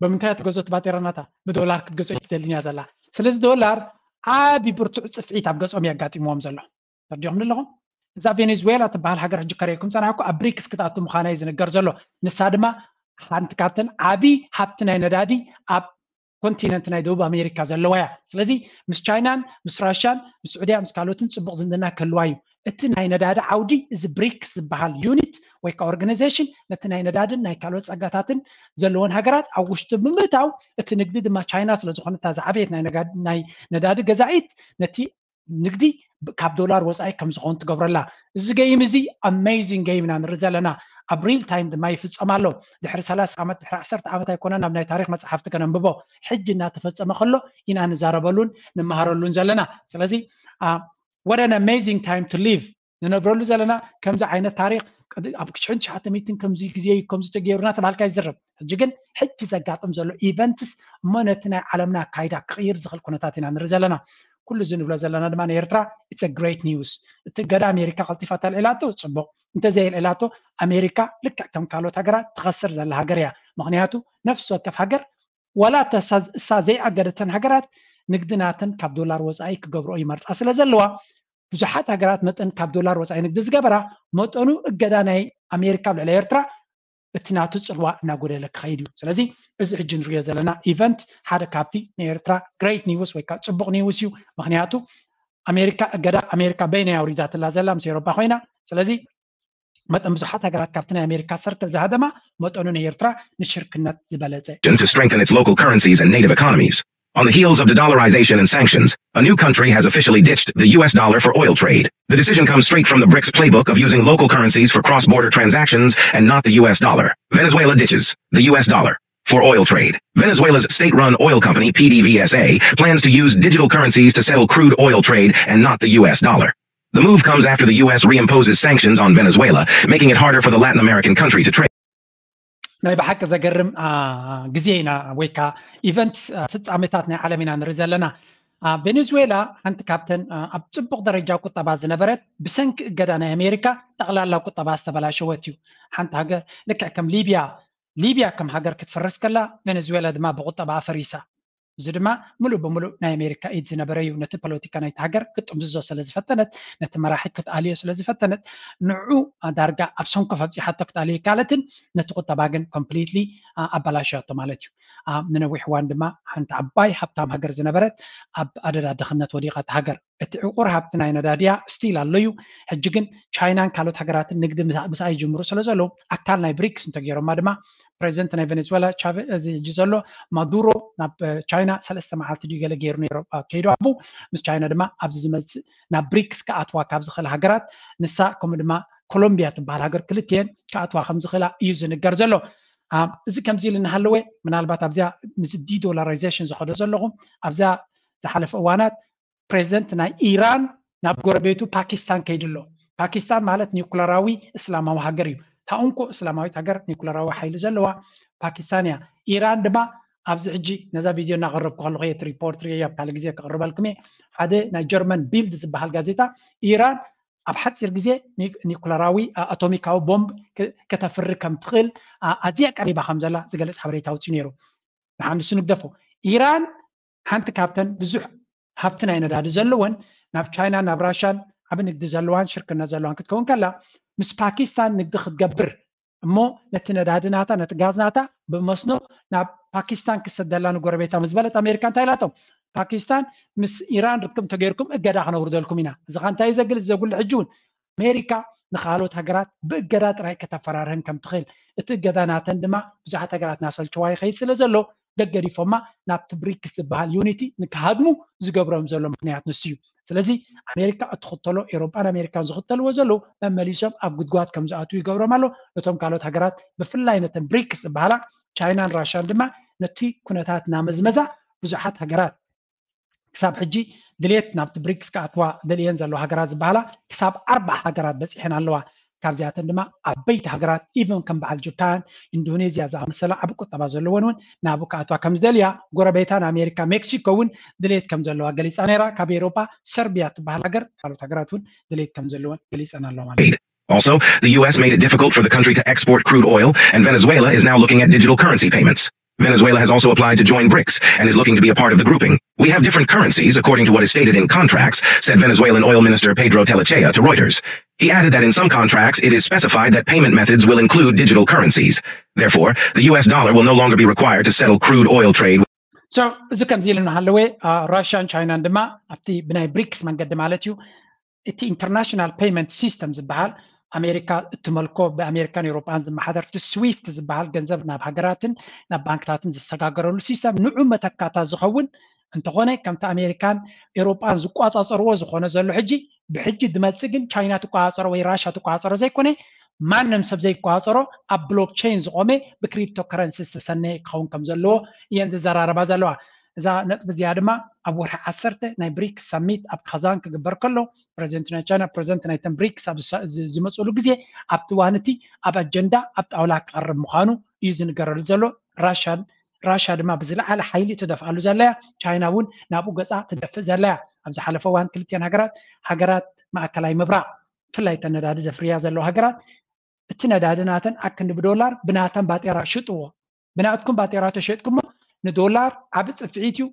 ብምንታይ እያ ትገዝኦ? እቲ ባጤራ ናታ ብዶላር ክትገዝኦ ኣይትደልን እያ ዘላ። ስለዚ ዶላር ዓቢ ብርቱዕ ጽፍዒት ኣብ ገጾም እዩ ኣጋጢምዎም ዘሎ። ተረዲኹም ኣለኹም? እዛ ቬኔዙዌላ ትበሃል ሃገር ሕጂ ከርእየኩም ጸናሕኩ ኣብ ብሪክስ ክትኣቱ ምዃና እዩ ዝንገር ዘሎ። ንሳ ድማ ሓንቲ ካብተን ዓቢ ሃብቲ ናይ ነዳዲ ኣብ ኮንቲነንት ናይ ደቡብ ኣሜሪካ ዘለዋ እያ። ስለዚ ምስ ቻይናን ምስ ራሽያን ምስ ስዑድያ ምስ ካልኦትን ጽቡቕ ዝምድና ክህልዋ እዩ። እቲ ናይ ነዳዲ ዓውዲ፣ እዚ ብሪክስ ዝበሃል ዩኒት ወይ ከዓ ኦርጋናይዜሽን ነቲ ናይ ነዳድን ናይ ካልኦት ጸጋታትን ዘለወን ሃገራት ኣብ ውሽጡ ብምእታው፣ እቲ ንግዲ ድማ ቻይና ስለ ዝኾነት እታ ዝዓበየት ናይ ነጋ- ናይ ነዳዲ ገዛኢት፣ ነቲ ንግዲ ብ- ካብ ዶላር ወፃኢ ከም ዝኾን ትገብረላ። እዚ ገይም እዚ ኣሜዚንግ ገይም ኢና ንርኢ ዘለና። ኣብ ሪል ታይም ድማ ይፍጸም ኣሎ። ድሕሪ ሰላሳ ዓመት፣ ድሕሪ ዓሰርተ ዓመት ኣይኮነን ኣብ ናይ ታሪኽ መጽሓፍቲ ከነንብቦ፣ ሕጂ እናተፈጸመ ከሎ ኢና ንዛረበሉን ንመሃረሉን ዘለና። ስለዚ what an amazing time to live ንነብረሉ ዘለና። ከምዚ ዓይነት ታሪኽ ቅድ- ኣብ ክሽሕን ትሽዓተ ሚእትን ከምዚ ግዜ እዩ ከምዚ ተገይሩ እናተባሃልካ ይዝረብ። ሕጂ ግን ሕጂ ዘጋጥም ዘሎ ኢቨንትስ እሞ ነቲ ናይ ዓለምና ኣካይዳ ክቕይር ዝኽእል ኩነታት ኢና ንርኢ ዘለና። ኩሉ እዚ ንብሎ ዘለና ድማ ንኤርትራ it's a great news። እቲ እገዳ ኣሜሪካ ቀልጢፋ ተልዒላቶ ጽቡቕ፣ እንተዘየልዒላቶ ኣሜሪካ ልክዕ ከም ካልኦት ሃገራት ትኸስር ዘላ ሃገር እያ። ምኽንያቱ ነፍሲ ወከፍ ሃገር ዋላ እታ እሳ- እሳ ዘይኣገደተን ሃገራት ንግዲ ናተን ካብ ዶላር ወፃኢ ክገብርኦ ይመርፃ ስለ ዘለዋ ብዙሓት ሃገራት መጠን ካብ ዶላር ወፃኢ ንግዲ ዝገበራ መጠኑ እገዳ ናይ ኣሜሪካ ኣብ ልዕሊ ኤርትራ እቲ ናቱ ፅልዋ እናጎደለ ክኸይድ እዩ። ስለዚ እዚ ሕጂ ንሪኦ ዘለና ኢቨንት ሓደ ካብቲ ንኤርትራ ግሬት ኒውስ ወይ ከዓ ፅቡቕ ኒውስ እዩ። ምክንያቱ ኣሜሪካ እገዳ ኣሜሪካ በይና ኣውሪዳትላ ዘላ ምስ ኤውሮጳ ኮይና። ስለዚ መጠን ብዙሓት ሃገራት ካብቲ ናይ ኣሜሪካ ሰርክል ዝሃደማ መጠኑ ናይ ኤርትራ ንሽርክነት ዝበለፀ to strengthen its local currencies and native economies. On the heels of de-dollarization and sanctions, a new country has officially ditched the U S dollar for oil trade. The decision comes straight from the brics playbook of using local currencies for cross-border transactions and not the U S dollar. Venezuela ditches the U S dollar for oil trade. Venezuela's state-run oil company, P D V S A, plans to use digital currencies to settle crude oil trade and not the U S dollar. The move comes after the U S reimposes sanctions on Venezuela, making it harder for the Latin American country to trade. ናይ ብሓቂ ዘገርም ግዜ ኢና ወይ ከዓ ኢቨንት ፍፃሜታት ናይ ዓለም ኢና ንርኢ ዘለና። ቬኔዙዌላ ሓንቲ ካብተን ኣብ ፅቡቕ ደረጃ ቁጠባ ዝነበረት ብሰንኪ እገዳ ናይ ኣሜሪካ ጠቕላላ ቁጠባ ዝተበላሸወት እዩ። ሓንቲ ሃገር ልክዕ ከም ሊብያ ሊብያ ከም ሃገር ክትፈርስ ከላ ቬኔዙዌላ ድማ ብቁጠባ ፈሪሳ። እዚ ድማ ሙሉእ ብሙሉእ ናይ ኣሜሪካ ኢድ ዝነበረ እዩ። ነቲ ፖለቲካ ናይቲ ሃገር ክትጥምዝዞ ስለ ዝፈተነት፣ ነቲ መራሒ ክትኣልዮ ስለ ዝፈተነት፣ ንዑ ዳርጋ ኣብ ሰንኮፍ ኣብፂሓቶ ክትኣልዮ ይካለትን ነቲ ቁጠባ ግን ኮምፕሊትሊ ኣባላሽያቶ ማለት እዩ። ንነዊሕ እዋን ድማ ሓንቲ ዓባይ ሃብታም ሃገር ዝነበረት ኣብ ኣደዳ ድኽነት ወዲቓ እታ ሃገር። እቲ ዕቑር ሃብቲ ናይ ነዳድያ ስቲል ኣሎ እዩ። ሕጂ ግን ቻይናን ካልኦት ሃገራትን ንግዲ ምስኣ ይጅምሩ ስለ ዘለዉ ኣካል ናይ ብሪክስ እንተገይሮማ ድማ ፕሬዚደንት ናይ ቬኔዙዌላ ቻቨ እዚ ሕጂ ዘሎ ማዱሮ ናብ ቻይና ሰለስተ መዓልቲ ድዩ ገለ ገይሩ ነይሩ ከይዱ ኣቡ ምስ ቻይና ድማ ኣብዚ ዝመፅእ ናብ ብሪክስ ክኣትዋ ካብ ዝኽእል ሃገራት ንሳ ከምኡ ድማ ኮሎምቢያ ትበሃል ሃገር ክልትየን ክኣትዋ ከም ዝኽእላ እዩ ዝንገር ዘሎ። እዚ ከምዚ ኢሉ እናሃለወ ምናልባት ኣብዚኣ ምስ ዲዶላራይዜሽን ዝኸዶ ዘለኹ ኣብዛ ዝሓለፈ እዋናት ፕሬዚደንት ናይ ኢራን ናብ ጎረቤቱ ፓኪስታን ከይዱ ኣሎ። ፓኪስታን ማለት ኒኩለራዊ እስላማዊ ሃገር እዩ። እታ እንኮ እስላማዊት ሃገር ኒኩለራዊ ሓይሊ ዘለዋ ፓኪስታን እያ። ኢራን ድማ ኣብዚ ሕጂ ነዛ ቪድዮ እናቐረብኩ ከለኹ የት ሪፖርት ርየ ኣብ ካልእ ግዜ ክቕርበልኩም እየ። ሓደ ናይ ጀርመን ቢልድ ዝበሃል ጋዜጣ ኢራን ኣብ ሓፂር ግዜ ኒኩለራዊ ኣቶሚካዊ ቦምብ ከተፍሪ ከም ትኽእል ኣዝያ ቀሪባ ከም ዘላ ዝገልፅ ሓበሬታ ኣውፅኡ ነይሩ። ንሓንሱ ንግደፎ። ኢራን ሓንቲ ካብተን ብዙሕ ሃብቲ ናይ ነዳዲ ዘለወን ናብ ቻይና ናብ ራሻን ዓብ ንግዲ ዘለዋን ሽርክነት ዘለዋን ክትከውን ከላ ምስ ፓኪስታን ንግዲ ክትገብር እሞ ነቲ ነዳዲ ናታ ነቲ ጋዝ ናታ ብመስኖ ናብ ፓኪስታን ክሰደላ ንጎረቤታ ምስ በለት ኣሜሪካ እንታይ ኢላቶም? ፓኪስታን ምስ ኢራን ርክብ እንተገይርኩም እገዳ ክነውርደልኩም ኢና። እዚ ኻ እንታይ እዩ ዘግልፅ ዘጉልሕ? ሕጂ እውን ኣሜሪካ ንካልኦት ሃገራት ብእገዳ ጥራይ ከተፈራርህን ከም ትኽእል እቲ እገዳ ናተን ድማ ብዙሓት ሃገራት ናሰልችዋ ይኸይድ ስለ ዘሎ ገገዲፎማ ናብቲ ብሪክስ ዝበሃል ዩኒቲ ንክሃድሙ ዝገብሮም ዘሎ ምክንያት ንሱ እዩ። ስለዚ ኣሜሪካ እትኽተሎ፣ ኤውሮጳን ኣሜሪካን ዝኽተልዎ ዘለዉ መመሊሶም ኣብ ጉድጓድ ከም ዝኣትዉ ይገብሮም ኣሎ። ነቶም ካልኦት ሃገራት ብፍላይ ነተን ብሪክስ ዝበሃላ ቻይናን ራሽያን ድማ ነቲ ኩነታት እናመዝመዛ ብዙሓት ሃገራት ክሳብ ሕጂ ድሌት ናብቲ ብሪክስ ክኣትዋ ደልየን ዘለዋ ሃገራት ዝበሃላ ክሳብ ኣርባዓ ሃገራት በፂሐን ኣለዋ። ካብዚኣተን ድማ ዓበይቲ ሃገራት ኢቨን ከም በዓል ጃፓን፣ ኢንዶኔዝያ ዝኣመሰላ ዓቢ ቁጠባ ዘለወን እውን ናብኡ ክኣትዋ ከም ዝደልያ፣ ጎረቤታን ኣሜሪካ ሜክሲኮ እውን ድሌት ከም ዘለዋ ገሊፃ ነይራ። ካብ ኤውሮጳ ሰርቢያ ትበሃል ሃገር፣ ካልኦት ሃገራት እውን ድሌት ከም ዘለወን ገሊፀን ኣለዋ ማለት እዩ። Also, the U S made it difficult for the country to export crude oil, and Venezuela is now looking at digital currency payments. Venezuela has also applied to join brics and is looking to be a part of the grouping. We have different currencies according to what is stated in contracts, said Venezuelan Oil Minister Pedro Tellechea to Reuters. He added that in some contracts it is specified that payment methods will include digital currencies. Therefore, the U S dollar will no longer be required to settle crude oil trade. So እዚ ከምዚ ኢሉ እናሃለወ፣ ራሽያን ቻይናን ድማ ኣብቲ ብናይ ብሪክስ መንገዲ ማለት እዩ፣ እቲ ኢንተርናሽናል ፔይመንት ሲስተም ዝበሃል ኣሜሪካ እትመልኮ፣ ብኣሜሪካን ኤውሮጳን ዝመሓደር እቲ ስዊፍት ዝበሃል ገንዘብ ናብ ሃገራትን ናብ ባንክታትን ዝሰጋገረሉ ሲስተም ንዑ መተካታ ዝኸውን እንተኾነ፣ ከምቲ ኣሜሪካን ኤውሮጳን ዝቋጻጸርዎ ዝኾነ ዘሎ ሕጂ፣ ብሕጂ ድመጽእ ግን ቻይና ትቋጻጸሮ ወይ ራሻ ትቋጻጸሮ ዘይኮነ፣ ማንም ሰብ ዘይቋጻጸሮ ኣብ ብሎክቸይን ዝቆመ ብክሪፕቶ ከረንሲ ዝተሰነየ ክኸውን ከም ዘለዎ እየን ዝዘራረባ ዘለዋ። እዛ ነጥቢ እዚኣ ድማ ኣብ ወርሒ ዓሰርተ ናይ ብሪክስ ሰሚት ኣብ ካዛን ክግበር ከሎ፣ ፕረዚደንት ናይ ቻይና፣ ፕረዚደንት ናይተን ብሪክስ ኣብ ዝመፅሉ ግዜ፣ ኣብቲ እዋን እቲ ኣብ ኣጀንዳ ኣብ ጣውላ ክቐርብ ምዃኑ እዩ ዝንገረሉ ዘሎ። ራሻን ራሻ ድማ ብዝለዓለ ሓይሊ ትደፍኣሉ ዘለያ፣ ቻይና እውን ናብኡ ገፃ ትደፍእ ዘለያ። ኣብ ዝሓለፈ እዋን ክልቲአን ሃገራት፣ ሃገራት ማእከላይ ምብራቕ፣ ብፍላይ እተን ነዳዲ ዘፍርያ ዘለዋ ሃገራት፣ እቲ ነዳዲ ናተን ኣክንዲ ብዶላር ብናተን ባጤራ ሽጥዎ። ብናትኩም ባጤራ ተሸጥኩሞ ንዶላር ዓቢ ጽፍዒት እዩ።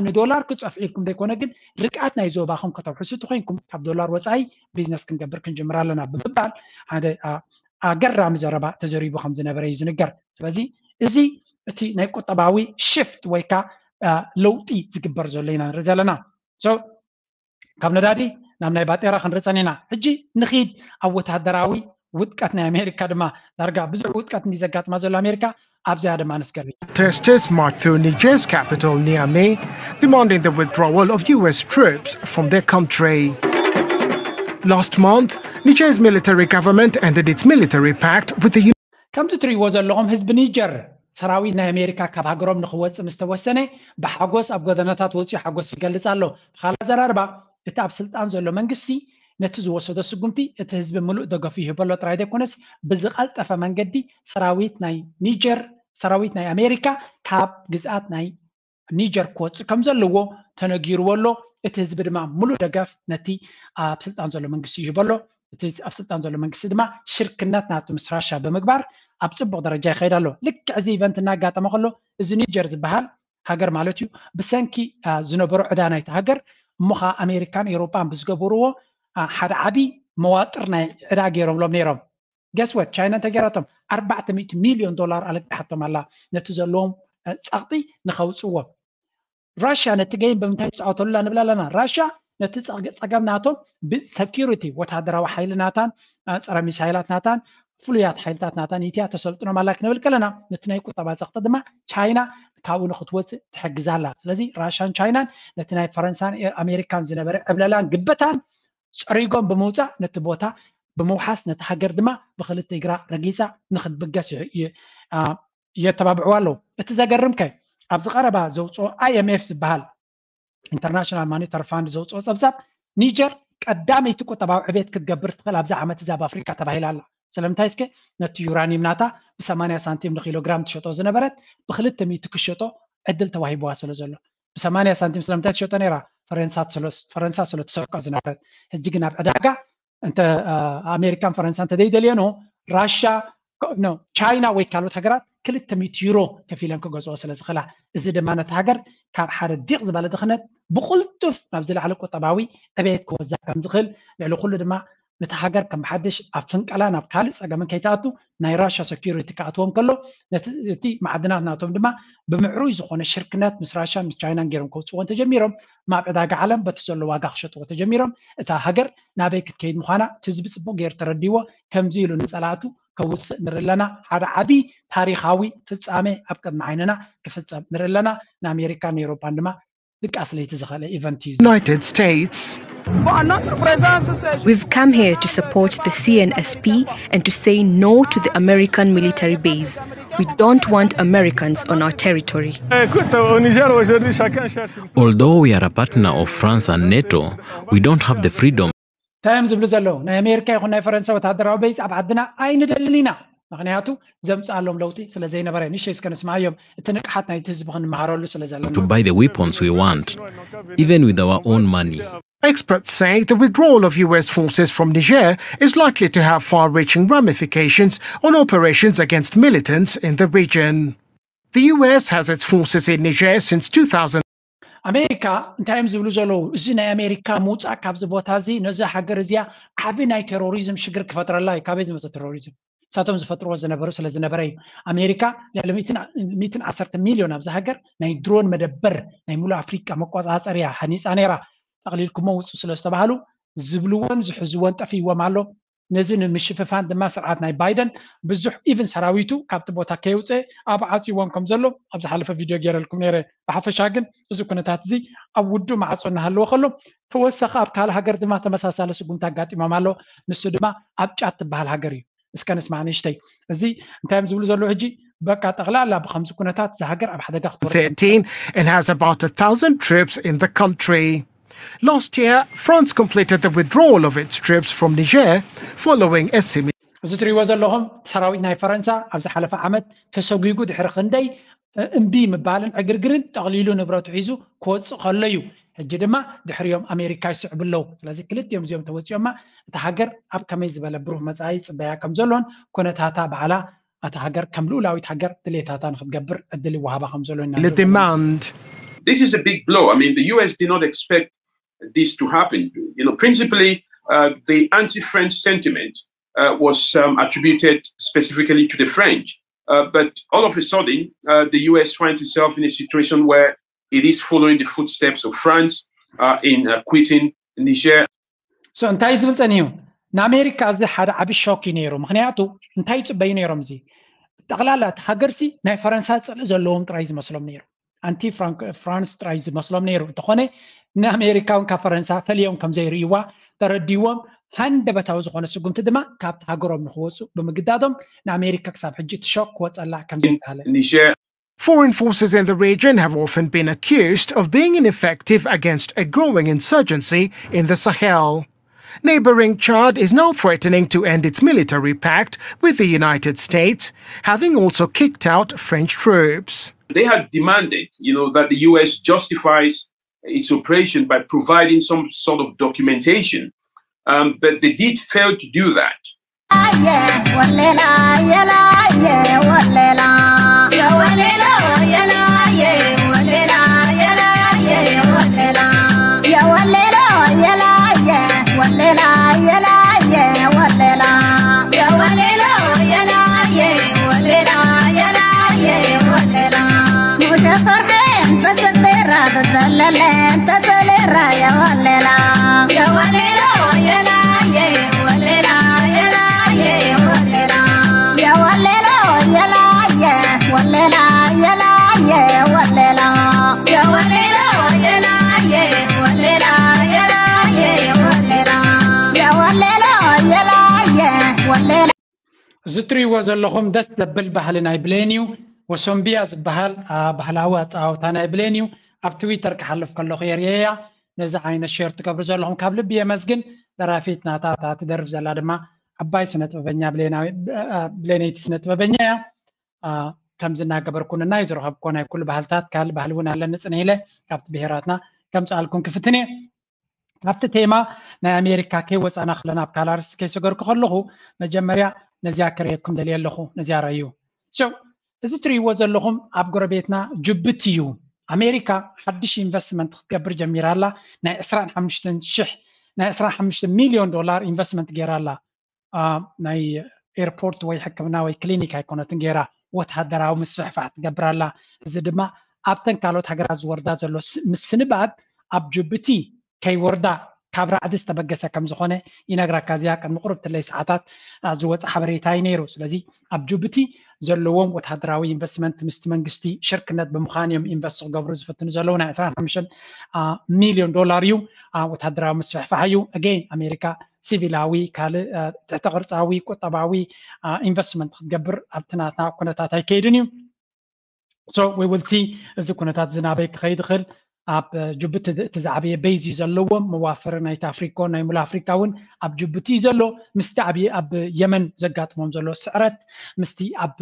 ንዶላር ክጸፍዒልኩም ዘይኮነ ግን ርግኣት ናይ ዞባኹም ከተውሕሱ ተኮይንኩም ካብ ዶላር ወጻኢ ቢዝነስ ክንገብር ክንጅምር ኣለና ብምባል ሓደ ኣገራሚ ዘረባ ተዘሪቡ ከም ዝነበረ እዩ ዝንገር። ስለዚ እዚ እቲ ናይ ቁጠባዊ ሽፍት ወይ ከዓ ለውጢ ዝግበር ዘሎ ኢና ንርኢ ዘለና። ካብ ነዳዲ ናብ ናይ ባጤራ ክንርኢ ጸኒና። ሕጂ ንኺድ ኣብ ወታደራዊ ውድቀት ናይ ኣሜሪካ ድማ። ዳርጋ ብዙሕ ውድቀት እንዲ ዘጋጥማ ዘሎ ኣሜሪካ ኣብዚኣ ድማ ንስገር። Protesters marched through Niger's capital, Niamey, demanding the withdrawal of U S troops from their country. Last month, Niger's military government ended its military pact with the ከምዚ ትርእይዎ ዘለኹም ህዝቢ ኒጀር ሰራዊት ናይ ኣሜሪካ ካብ ሃገሮም ንክወፅእ ምስ ተወሰነ ብሓጎስ ኣብ ጎደናታት ወፂኡ ሓጎስ ይገልፅ ኣሎ። ብኻልእ ኣዘራርባ እቲ ኣብ ስልጣን ዘሎ መንግስቲ ነቲ ዝወሰዶ ስጉምቲ እቲ ህዝቢ ምሉእ ደገፉ ይህበሎ ጥራይ ዘይኮነስ ብዝቐልጠፈ መንገዲ ሰራዊት ናይ ኒጀር ሰራዊት ናይ ኣሜሪካ ካብ ግዝኣት ናይ ኒጀር ክወፅእ ከም ዘለዎ ተነጊርዎ ኣሎ። እቲ ህዝቢ ድማ ሙሉእ ደገፍ ነቲ ኣብ ስልጣን ዘሎ መንግስቲ ይህበሎ። እቲ ኣብ ስልጣን ዘሎ መንግስቲ ድማ ሽርክነት ናቱ ምስ ራሻ ብምግባር ኣብ ፅቡቕ ደረጃ ይኸይድ ኣሎ። ልክዕ እዚ ኢቨንት እናጋጠመ ከሎ እዚ ኒጀር ዝበሃል ሃገር ማለት እዩ ብሰንኪ ዝነበሮ ዕዳ ናይቲ ሃገር እሞ ከዓ ኣሜሪካን ኤውሮጳን ብዝገበርዎ ሓደ ዓብዪ መዋጥር ናይ ዕዳ ገይሮምሎም ነይሮም። ገስወት ቻይና እንታይ ገይራቶም ኣርባዕተ ሚእቲ ሚልዮን ዶላር ኣለቂሓቶም ኣላ ነቲ ዘለዎም ፀቕጢ ንኸውፅዎ። ራሽያ ነቲ ገይም ብምንታይ ትፃወተሉላ ንብል ኣለና። ራሽያ ነቲ ፀገም ናቶም ብሰኪሪቲ ወታደራዊ ሓይሊ ናታን ፀረ ሚሳይላት ናታን ፍሉያት ሓይልታት ናታን ኢትያ ተሰልጥኖም ኣላ ክንብል ከለና ነቲ ናይ ቁጠባ ፀቕጢ ድማ ቻይና ካብኡ ንክትወፅእ ትሕግዛ ኣላ። ስለዚ ራሽያን ቻይናን ነቲ ናይ ፈረንሳን ኣሜሪካን ዝነበረ ዕብለላን ግበታን ፀሪጎም ብምውፃእ ነቲ ቦታ ብምውሓስ ነቲ ሃገር ድማ ብክልተ እግራ ረጊፃ ንክትብገስ የተባብዕዋ ኣለዉ። እቲ ዘገርም ከ ኣብዚ ቀረባ ዘውፅኦ ኣይኤምኤፍ ዝበሃል ኢንተርናሽናል ማኒተሪ ፋንድ ዘውፅኦ ፀብፃብ ኒጀር ቀዳመይቲ ቁጠባዊ ዕቤት ክትገብር ትኽእል ኣብዚ ዓመት እዚ ኣብ ኣፍሪካ ተባሂላ ኣላ። ስለምንታይ እስከ ነቲ ዩራኒየም ናታ ብሰማንያ ሳንቲም ንኪሎግራም ትሸጦ ዝነበረት ብክልተ ሚእቲ ክሸጦ ዕድል ተዋሂብዋ ስለ ዘሎ። ብሰማንያ ሳንቲም ስለምንታይ ትሸጦ ነይራ? ፈረንሳ ስለ ትሰርቆ ዝነበረት። ሕጂ ግን ኣብ ዕዳጋ እንተ ኣሜሪካን ፈረንሳ እንተ ዘይደልየኖ ራሻ ቻይና ወይ ካልኦት ሃገራት ክልተ ሚእቲ ዩሮ ከፊለን ክገዝኦ ስለ ዝኽእላ፣ እዚ ድማ ነቲ ሃገር ካብ ሓደ ዲቕ ዝበለ ድኽነት ብቕልጡፍ ናብ ዝለዓለ ቁጠባዊ ዕቤት ክወዛ ከም ዝኽእል፣ ልዕሊ ኩሉ ድማ ነቲ ሃገር ከም ሓድሽ ኣብ ፍንቀላ ናብ ካልእ ጸገምን ከይትኣቱ ናይ ራሻ ሰኪሪቲ ክኣትዎም ከሎ እቲ መዓድናት ናቶም ድማ ብምዕሩይ ዝኾነ ሽርክነት ምስ ራሻን ምስ ቻይናን ገይሮም ከውፅዎ እንተጀሚሮም ማብ ዕዳጋ ዓለም በቲ ዘሎ ዋጋ ክሸጥዎ ተጀሚሮም እታ ሃገር ናበይ ክትከይድ ምዃና እቲ ህዝቢ ፅቡቅ ገይሩ ተረዲዎ ከምዚ ኢሉ ንፀላእቱ ከውፅእ ንርኢ ኣለና። ሓደ ዓብዪ ታሪኻዊ ፍጻሜ ኣብ ቅድሚ ዓይንና ክፍጸም ንርኢ ኣለና። ንኣሜሪካን ንኤውሮጳን ድማ ድቃስ ለይቲ ዝኸለ ኢቨንት እዩ። United States. We've come here to support the C N S P and to say no to the American military base. We don't want Americans on our territory. Although we are a partner of France and NATO, we don't have the freedom. እንታይ እዮም ዝብሉ ዘለዉ? ናይ ኣሜሪካ ይኹን ናይ ፈረንሳ ወታደራዊ ቤዝ ኣብ ዓድና ኣይንደልን ኢና። ምክንያቱ ዘምፅኣሎም ለውጢ ስለ ዘይነበረ። ንሸይ እስከ ንስማዮም፣ እቲ ንቅሓት ናይቲ ህዝቢ ክንመሃረሉ ስለ ዘለና። To buy the weapons we want, even with our own money. Experts say the withdrawal of U S forces from Niger is likely to have far reaching ramifications on operations against militants in the region. The U S has its forces in Niger since two thousand. ኣሜሪካ እንታይ እዮም ዝብሉ ዘለዉ? እዚ ናይ ኣሜሪካ ምውፃእ ካብዚ ቦታ እዚ ነዚ ሃገር እዚኣ ዓብ ናይ ቴሮሪዝም ሽግር ክፈጥረላ እዩ። ካበይ ዝመፀ ቴሮሪዝም? እሳቶም ዝፈጥርዎ ዝነበሩ ስለ ዝነበረ እዩ። ኣሜሪካ ልዕሊ ሚትን ዓሰርተ ሚልዮን ኣብዚ ሃገር ናይ ድሮን መደበር ናይ ሙሉእ ኣፍሪቃ መቆፃፀርያ ሃኒፃ ነይራ። ጠቕሊልኩሞ ውፁ ስለ ዝተባሃሉ ዝብልዎን ዝሕዝዎን ጠፊዎም ኣሎ። ነዚ ንምሽፍፋን ድማ ስርዓት ናይ ባይደን ብዙሕ ኢቭን ሰራዊቱ ካብቲ ቦታ ከየውፅአ ኣብ ዓፅዎም ከም ዘሎ ኣብ ዝሓለፈ ቪድዮ ገይረልኩም ነይረ። ብሓፈሻ ግን እዚ ኩነታት እዚ ኣብ ውዱ ማዕፆ እናሃለወ ከሎ ተወሳኺ ኣብ ካልእ ሃገር ድማ ተመሳሳሊ ስጉምቲ ኣጋጢሞም ኣሎ። ንሱ ድማ ኣብ ጫድ ትበሃል ሃገር እዩ። እስከ ንስማዕ ንእሽተይ። እዚ እንታይ እዮም ዝብሉ ዘለዉ ሕጂ? በቃ ጠቕላላ ብከምዚ ኩነታት እዚ ሃገር ኣብ ሓደጋ ክትወርድ thirteen and has about a thousand troops in the country. Last year, France completed the withdrawal of its troops from Niger following a similar እዚ ትሪእዎ ዘለኹም ሰራዊት ናይ ፈረንሳ ኣብ ዝሓለፈ ዓመት ተሰጒጉ ድሕሪ ክንደይ እምቢ ምባልን ዕግርግርን ጠቕሊሉ ንብረቱ ሒዙ ክወፅእ ከሎ እዩ። ሕጂ ድማ ድሕሪኦም ኣሜሪካ ይስዕቡ ኣለዉ። ስለዚ ክልቲኦም እዚኦም ተወፂኦማ እታ ሃገር ኣብ ከመይ ዝበለ ብሩህ መፃኢ ይፅበያ ከም ዘሎን ኩነታታ ባዕላ እታ ሃገር ከም ልኡላዊት ሃገር ድሌታታ ንክትገብር ዕድል ይወሃባ ከም ዘሎ ይናገሩ። demand. This is a big blow. I mean, the U S did not expect this to happen. You know, principally, uh, the anti-French sentiment uh, was um, attributed specifically to the French. Uh, but all of a sudden, uh, the U S finds itself in a situation where it is following the footsteps of France uh, in uh, quitting Niger. So እንታይ ዝብል ጸኒሑ? ንኣሜሪካ እዚ ሓደ ዓቢ ሾክ እዩ ነይሩ። ምክንያቱ እንታይ ይጽበዩ ነይሮም? እዚ ጠቕላላ እቲ ሃገርሲ ናይ ፈረንሳ ጽልኢ ዘለዎም ጥራይ ዝመስሎም ነይሩ። ኣንቲ ፍራንስ ጥራይ ዝመስሎም ነይሩ። እንተኾነ ንኣሜሪካ እውን ካብ ፈረንሳ ፈልዮም ከም ዘይርእይዋ ተረዲዎም ሃንደበታዊ ዝኾነ ስጉምቲ ድማ ካብቲ ሃገሮም ንክወፁ ብምግዳዶም ንኣሜሪካ ክሳብ ሕጂ እቲ ሾክ ክወፀላ ከም ዘይከኣለ Niger Foreign forces in the region have often been accused of being ineffective against a growing insurgency in the Sahel. Neighboring Chad is now threatening to end its military pact with the United States, having also kicked out French troops. They had demanded, you know, that the U S justifies its operation by providing some sort of documentation. Um, but they did fail to do that. እዚ ትሪእዎ ዘለኹም ደስ ዘብል ባህሊ ናይ ብሌን እዩ። ወሶምቢያ ዝበሃል ባህላዊ ኣፀዋውታ ናይ ብሌን እዩ። ኣብ ትዊተር ክሓልፍ ከለኹ የርእየያ። ነዚ ዓይነት ሼር ትገብሩ ዘለኹም ካብ ልቢ የመስግን። ደራፊት ናታ እታ ትደርፍ ዘላ ድማ ዓባይ ስነ ጥበበኛ ብሌነይቲ ስነ ጥበበኛ እያ። ከምዚ እናገበርኩ ንናይ ዝረኸብኮ ናይ ኩሉ ባህልታት ካልእ ባህሊ እውን ኣለኒ ፅንሕ ኢለ ካብቲ ብሄራትና ከምፅኣልኩም ክፍትን እየ። ካብቲ ቴማ ናይ ኣሜሪካ ከይወፃና ከለና ኣብ ካልእ ኣርእስቲ ከይሰገርኩ ከለኹ መጀመርያ ነዚኣ ክርእየኩም ደልየ ኣለኹ። ነዚኣ ረእዩ። So እዚ ትርእይዎ ዘለኹም ኣብ ጎረቤትና ጅቡቲ እዩ። ኣሜሪካ ሓድሽ ኢንቨስትመንት ክትገብር ጀሚራ ኣላ። ናይ ዕስራን ሓሙሽተን ሽሕ ናይ ዕስራን ሓሙሽተ ሚልዮን ዶላር ኢንቨስትመንት ገይራ ኣላ። ናይ ኤርፖርት ወይ ሕክምና ወይ ክሊኒክ ኣይኮነትን ገይራ፣ ወታደራዊ ምስፍሕፋሕ ትገብር ኣላ። እዚ ድማ ኣብተን ካልኦት ሃገራት ዝወርዳ ዘሎ ምስንባድ ኣብ ጅቡቲ ከይወርዳ ካብ ራዕዲ ዝተበገሰ ከም ዝኾነ ይነግረካ። እዚኣ ቅድሚ ቁሩብ ትለይ ሰዓታት ዝወፀ ሓበሬታ እዩ ነይሩ። ስለዚ ኣብ ጅቡቲ ዘለዎም ወታደራዊ ኢንቨስትመንት ምስቲ መንግስቲ ሽርክነት ብምዃን እዮም ኢንቨስት ክገብሩ ዝፍትኑ ዘለዉ። ናይ ዕስራን ሓሙሽተን ሚልዮን ዶላር እዩ። ወታደራዊ ምስፍሕፋሕ እዩ። ኣገይን ኣሜሪካ ሲቪላዊ፣ ካልእ ትሕተ ቅርፃዊ፣ ቁጠባዊ ኢንቨስትመንት ክትገብር ኣብቲ ናትና ኩነታት ኣይከይድን እዩ። So we will see እዚ ኩነታት እዚ ናበይ ክኸይድ ይኽእል። ኣብ ጅቡቲ እቲ ዝዓበየ ቤዝ እዩ ዘለዎም፣ መዋፈሪ ናይ ታፍሪኮ ናይ ሙሉ ኣፍሪካ እውን ኣብ ጅቡቲ እዩ ዘሎ። ምስቲ ኣብ የመን ዘጋጥሞም ዘሎ ስዕረት፣ ምስቲ ኣብ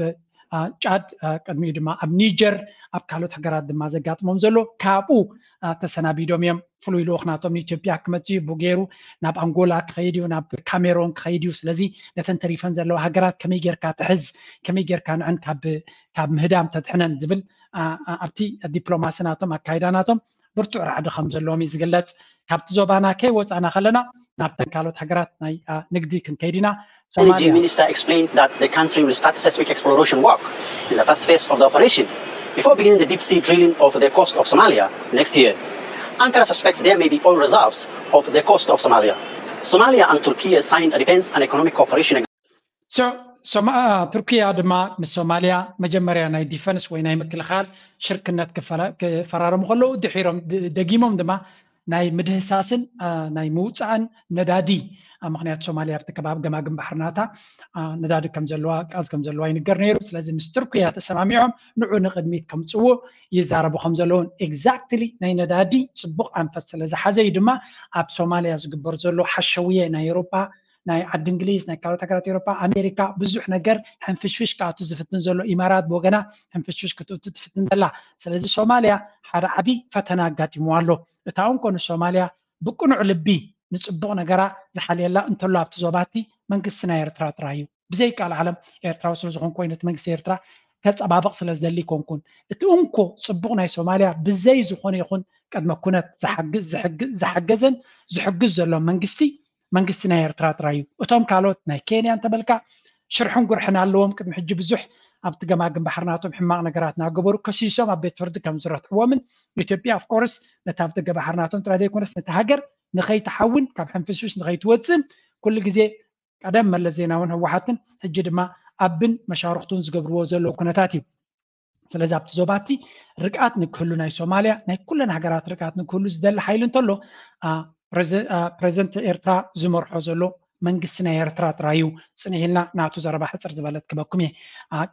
ጫድ፣ ቅድሚኡ ድማ ኣብ ኒጀር፣ ኣብ ካልኦት ሃገራት ድማ ዘጋጥሞም ዘሎ፣ ካብኡ ተሰናቢዶም እዮም። ፍሉይ ልኡኽ ናቶም ንኢትዮጵያ ክመፅእ እዩ። ብኡ ገይሩ ናብ ኣንጎላ ክኸይድ እዩ፣ ናብ ካሜሮን ክኸይድ እዩ። ስለዚ ነተን ተሪፈን ዘለዋ ሃገራት ከመይ ጌርካ ትሕዝ፣ ከመይ ጌርካ ንዐን ካብ ምህዳም ተድሕነን ዝብል ኣብቲ ዲፕሎማሲ ናቶም ኣካይዳ ናቶም ብርቱዕ ራዕዲ ከም ዘለዎም እዩ ዝግለጽ። ካብቲ ዞባና ከይወጻና ከለና ናብተን ካልኦት ሃገራት ናይ ንግዲ ክንከይድ ኢና። Energy Minister explained that the country will start seismic exploration work in the first phase of the operation before beginning the deep sea drilling off the coast of Somalia next year. Ankara suspects there may be oil reserves off the coast of Somalia. Somalia and Turkey signed a defense and economic cooperation agreement. So ቱርኪያ ድማ ምስ ሶማሊያ መጀመርያ ናይ ዲፈንስ ወይ ናይ ምክልኻል ሽርክነት ክፈራረሙ ከለዉ ድሒሮም ደጊሞም ድማ ናይ ምድህሳስን ናይ ምውፃእን ነዳዲ፣ ምክንያቱ ሶማሊያ ኣብቲ ከባቢ ገማግም ባሕሪ ናታ ነዳዲ ከም ዘለዋ፣ ጋዝ ከም ዘለዋ ይንገር ነይሩ። ስለዚ ምስ ቱርክያ ተሰማሚዖም ንዑ ንቅድሚት ከምፅዎ ይዛረቡ ከም ዘለውን። ኤግዛክትሊ ናይ ነዳዲ ፅቡቅ ኣንፈት ስለ ዝሓዘ እዩ ድማ ኣብ ሶማሊያ ዝግበር ዘሎ ሓሸውየ ናይ ኤሮፓ፣ ናይ ዓዲ እንግሊዝ፣ ናይ ካልኦት ሃገራት ኤሮፓ፣ ኣሜሪካ ብዙሕ ነገር ሕንፍሽፍሽ ክኣቱ ዝፍትን ዘሎ፣ ኢማራት ብወገና ሕንፍሽፍሽ ክትእቱ ትፍትን ዘላ። ስለዚ ሶማሊያ ሓደ ዓብዪ ፈተና ኣጋጢምዋ ኣሎ። እታ እንኮ ንሶማሊያ ብቅኑዕ ልቢ ንፅቡቕ ነገራ ዝሓልየላ እንተሎ ኣብቲ ዞባቲ መንግስቲ ናይ ኤርትራ ጥራይ እዩ። ብዘይ ቃል ዓለም ኤርትራዊ ስለ ዝኾንኩ ወይ ነቲ መንግስቲ ኤርትራ ከፀባበቕ ስለ ዝደሊ ኣይኮንኩን። እቲ እንኮ ፅቡቕ ናይ ሶማሊያ ብዘይ ዝኾነ ይኹን ቅድመ ኩነት ዝሓገዘን ዝሕግዝ ዘሎ መንግስቲ መንግስቲ ናይ ኤርትራ ጥራይ እዩ። እቶም ካልኦት ናይ ኬንያ እንተበልካ ሽርሕን ጉርሕን ኣለዎም። ቅድሚ ሕጂ ብዙሕ ኣብቲ ገማግም ባሕሪ ናቶም ሕማቕ ነገራት እናገበሩ ከሲሶም ኣብ ቤት ፍርዲ ከም ዝረትዕዎምን ኢትዮጵያ ኦፍኮርስ ነቲ ኣብ ደገ ባሕሪ ናቶም ጥራይ ዘይኮነስ ነቲ ሃገር ንኸይትሓውን ካብ ሕንፍሽፍሽ ንኸይትወፅን ኩሉ ግዜ ቀደም መለስ ዜናውን ህወሓትን ሕጂ ድማ ኣብን መሻርክቱን ዝገብርዎ ዘለዉ ኩነታት እዩ። ስለዚ ኣብቲ ዞባቲ ርግኣት ንክህሉ ናይ ሶማሊያ ናይ ኩለን ሃገራት ርግኣት ንክህሉ ዝደሊ ሓይሊ እንተሎ ፕሬዚደንት ኤርትራ ዝመርሖ ዘሎ መንግስቲ ናይ ኤርትራ ጥራይ እዩ። ፅንሕ ኢልና ናቱ ዘረባ ሕፅር ዝበለት ክበኩም እየ።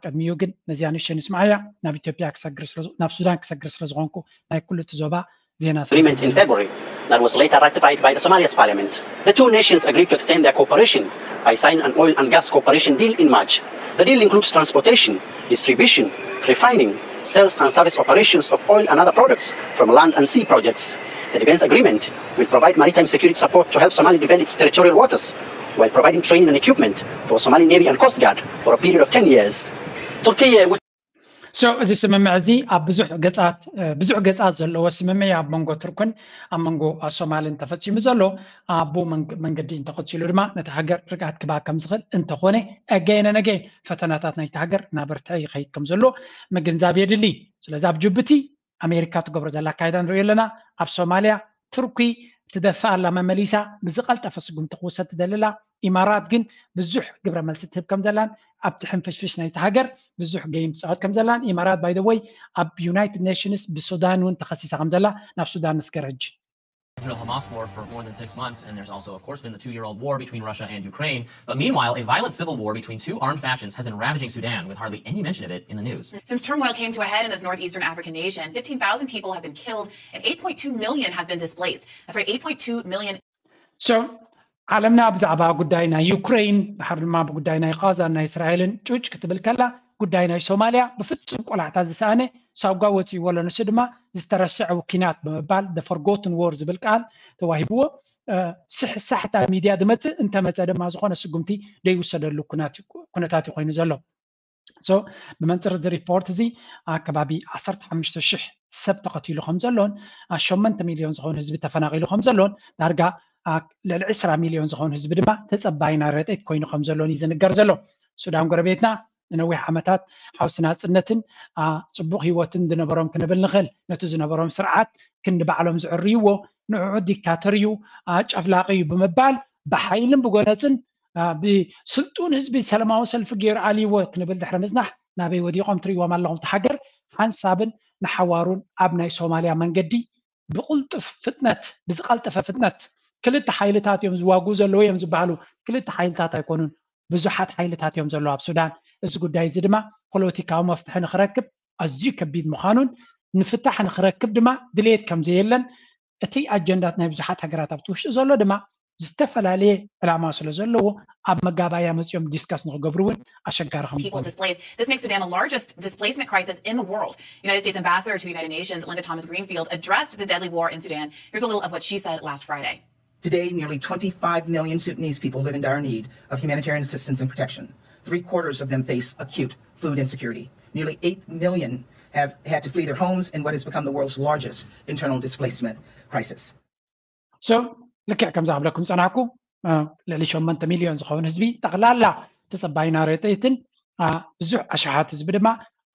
ቅድሚኡ ግን ነዚኣ ንእሽተይ ንስምዓያ። ናብ ኢትዮጵያ ክሰግር ናብ ሱዳን ክሰግር ስለ ዝኾንኩ ናይ ኩሉ እቲ ዞባ ዜና agreement in February that was later ratified by the Somalia's parliament. The two nations agreed to extend their cooperation by signing an oil and gas cooperation deal in March. The deal includes transportation, distribution, refining, sales and service operations of oil and other products from land and sea projects. The defense agreement will provide maritime security support to help Somalia defend its territorial waters, while providing training and equipment for Somali Navy and Coast Guard for a period of ten years. Turkey, which So እዚ ስምምዕ እዚ ኣብ ብዙሕ ገጻት ብዙሕ ገጻት ዘለዎ ስምምዕ ኣብ መንጎ ቱርክን ኣብ መንጎ ሶማልን ተፈጺሙ ዘሎ። ኣብኡ መንገዲ እንተቐጺሉ ድማ ነቲ ሃገር ርግኣት ክበሃ ከም ዝኽእል እንተኾነ again and again ፈተናታት ናይቲ ሃገር እናበርትዐ ይኸይድ ከም ዘሎ ምግንዛብ የድሊ። ስለዚ ኣብ ጅቡቲ ኣሜሪካ ትገብሮ ዘላ ኣካይዳ ንሪኦ ኣለና። ኣብ ሶማልያ ቱርኪ ትደፍእ ኣላ መመሊሳ ብዝቐልጠፈ ስጉምቲ ክውሰድ ትደሊ ኣላ። ኢማራት ግን ብዙሕ ግብረ መልሲ ትህብ ከም ዘላን ኣብቲ ሕንፍሽፍሽ ናይቲ ሃገር ብዙሕ ገይም ትፃወት ከም ዘላን ኢማራት by the way ኣብ ዩናይትድ ኔሽንስ ብሱዳን እውን ተኸሲሳ ከም ዘላ ናብ ሱዳን ንስገር ሕጂ። Israel Hamas war for more than six months, and there's also, of course, been the two year old war between Russia and Ukraine. But meanwhile, a violent civil war between two armed factions has been ravaging Sudan with hardly any mention of it in the news. Since turmoil came to a head in this northeastern African nation, fifteen thousand people have been killed and eight point two million have been displaced. That's right, eight point two million. So ዓለምና ብዛዕባ ጉዳይ ናይ ዩክሬን ድሓር ድማ ብጉዳይ ናይ ቃዛን ናይ እስራኤልን ጩጭ ክትብል ከላ ጉዳይ ናይ ሶማልያ ብፍጹም ቆላሕታ ዝሰኣነ ሳጓ ወፂእዎ ኣሎ። ንሱ ድማ ዝተረስዐ ኪናት ብምባል the forgotten war ዝብል ቃል ተዋሂብዎ። ሳሕታ ሚድያ ዝመፅእ እንተመፀ ድማ ዝኾነ ስጉምቲ ዘይውሰደሉ ኩነታት እዩ ኮይኑ ዘሎ። So ብመንፅር እዚ ሪፖርት እዚ ኣከባቢ ዓሰርተ ሓሙሽተ ሽሕ ሰብ ተቐቲሉ ከም ዘሎን ሸሞንተ ሚልዮን ዝኾኑ ህዝቢ ተፈናቒሉ ከም ዘሎን ዳርጋ ልዕሊ ዕስራ ሚልዮን ዝኾኑ ህዝቢ ድማ ተፀባይና ረድኤት ኮይኑ ከም ዘሎን እዩ ዝንገር ዘሎ። ሱዳን ጎረቤትና ንነዊሕ ዓመታት ሓውሲ ናፅነትን ፅቡቕ ህይወትን ዝነበሮም ክንብል ንኽእል። ነቲ ዝነበሮም ስርዓት ክንዲ ባዕሎም ዝዕርይዎ ንዕዑ ዲክታተር እዩ፣ ጨፍላቂ እዩ ብምባል ብሓይልን ብጎነፅን ብስልጡን ህዝቢ ሰላማዊ ሰልፊ ገይሩ ኣልይዎ ክንብል ድሕሪ ምፅናሕ ናበይ ወዲቖም ትርእይዎም ኣለኹም። እቲ ሃገር ሓንሳብን ንሓዋሩን ኣብ ናይ ሶማልያ መንገዲ ብቕልጡፍ ፍጥነት ብዝቐልጠፈ ፍጥነት ክልተ ሓይልታት እዮም ዝዋግኡ ዘለዉ እዮም ዝበሃሉ። ክልተ ሓይልታት ኣይኮኑን፣ ብዙሓት ሓይልታት እዮም ዘለዉ ኣብ ሱዳን። እዚ ጉዳይ እዚ ድማ ፖለቲካዊ መፍትሒ ንክረክብ ኣዝዩ ከቢድ ምዃኑን ንፍታሕ ንክረክብ ድማ ድሌት ከም ዘየለን እቲ ኣጀንዳት ናይ ብዙሓት ሃገራት ኣብቲ ውሽጢ ዘሎ ድማ ዝተፈላለየ ዕላማ ስለ ዘለዎ ኣብ መጋባእያ መፂኦም ዲስካስ ንክገብሩ እውን ኣሸጋሪ ከም ዝኾነ This makes Sudan the largest displacement crisis in the world. United States Ambassador to the United Nations, Linda Thomas Greenfield, addressed the deadly war in Sudan. Here's a little of what she said last Friday. Today, nearly twenty-five million Sudanese people live in dire need of humanitarian assistance and protection. Three quarters of them face acute food insecurity. Nearly eight million have had to flee their homes in what has become the world's largest internal displacement crisis. So ልክዕ ከምዚ ክብለኩም ዝጸናሕኩ ልዕሊ ሸሞንተ ሚልዮን ዝኸውን ህዝቢ ጠቕላላ ተጸባይና ርጥይትን ብዙሕ ኣሽሓት ህዝቢ ድማ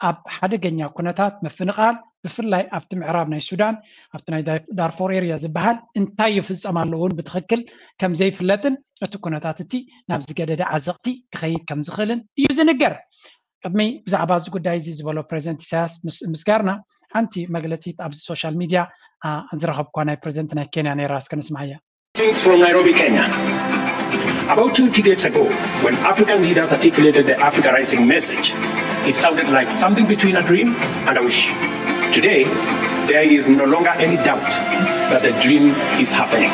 ኣብ ሓደገኛ ኩነታት ምፍንቓል ብፍላይ ኣብቲ ምዕራብ ናይ ሱዳን ኣብቲ ናይ ዳርፎር ኤርያ ዝበሃል እንታይ ይፍጸም ኣሎ እውን ብትኽክል ከም ዘይፍለጥን እቲ ኩነታት እቲ ናብ ዝገደደ ዓዘቕቲ ክኸይድ ከም ዝኽእልን እዩ ዝንገር። ቅድሚ ብዛዕባ እዚ ጉዳይ እዚ ዝበሎ ፕሬዚደንት ኢሳያስ ምስጋርና ሓንቲ መግለፂት ኣብዚ ሶሻል ሚድያ ዝረኸብኳ ናይ ፕሬዚደንት ናይ ኬንያ ነይራ እስከ ንስማዓያ። Things from Nairobi, Kenya. About twenty days ago, when African leaders articulated the Africa Rising message, it sounded like something between a dream and a wish. Today, there is no longer any doubt that the dream is happening.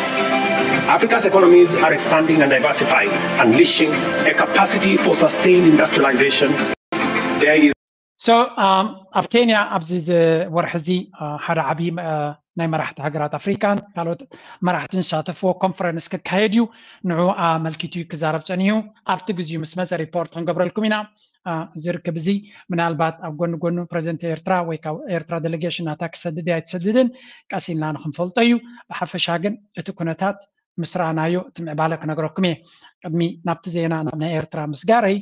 Africa's economies are expanding and diversifying, unleashing a capacity for sustained industrialization. There is So ኣብ ኬንያ ኣብዚ ወርሒ እዚ ሓደ ዓብዪ ናይ መራሕቲ ሃገራት ኣፍሪካን ካልኦት መራሕትን ዝሳተፍዎ ኮንፈረንስ ክካየድ እዩ። ንዑ ኣመልኪቱ እዩ ክዛረብ ፀኒሑ። ኣብቲ ግዜኡ ምስ መፀ ሪፖርት ክንገብረልኩም ኢና። እዚ ርክብ እዚ ምናልባት ኣብ ጎኒ ጎኑ ፕሬዚደንት ኤርትራ ወይ ካብ ኤርትራ ዴሌጌሽን ናታ ክሰድድ ኣይትሰድድን ቀስ ኢልና ንክንፈልጦ እዩ። ብሓፈሻ ግን እቲ ኩነታት ምስ ረኣናዮ እቲ ምዕባለ ክነግረኩም እየ። ቅድሚ ናብቲ ዜና ናብ ናይ ኤርትራ ምስጋረይ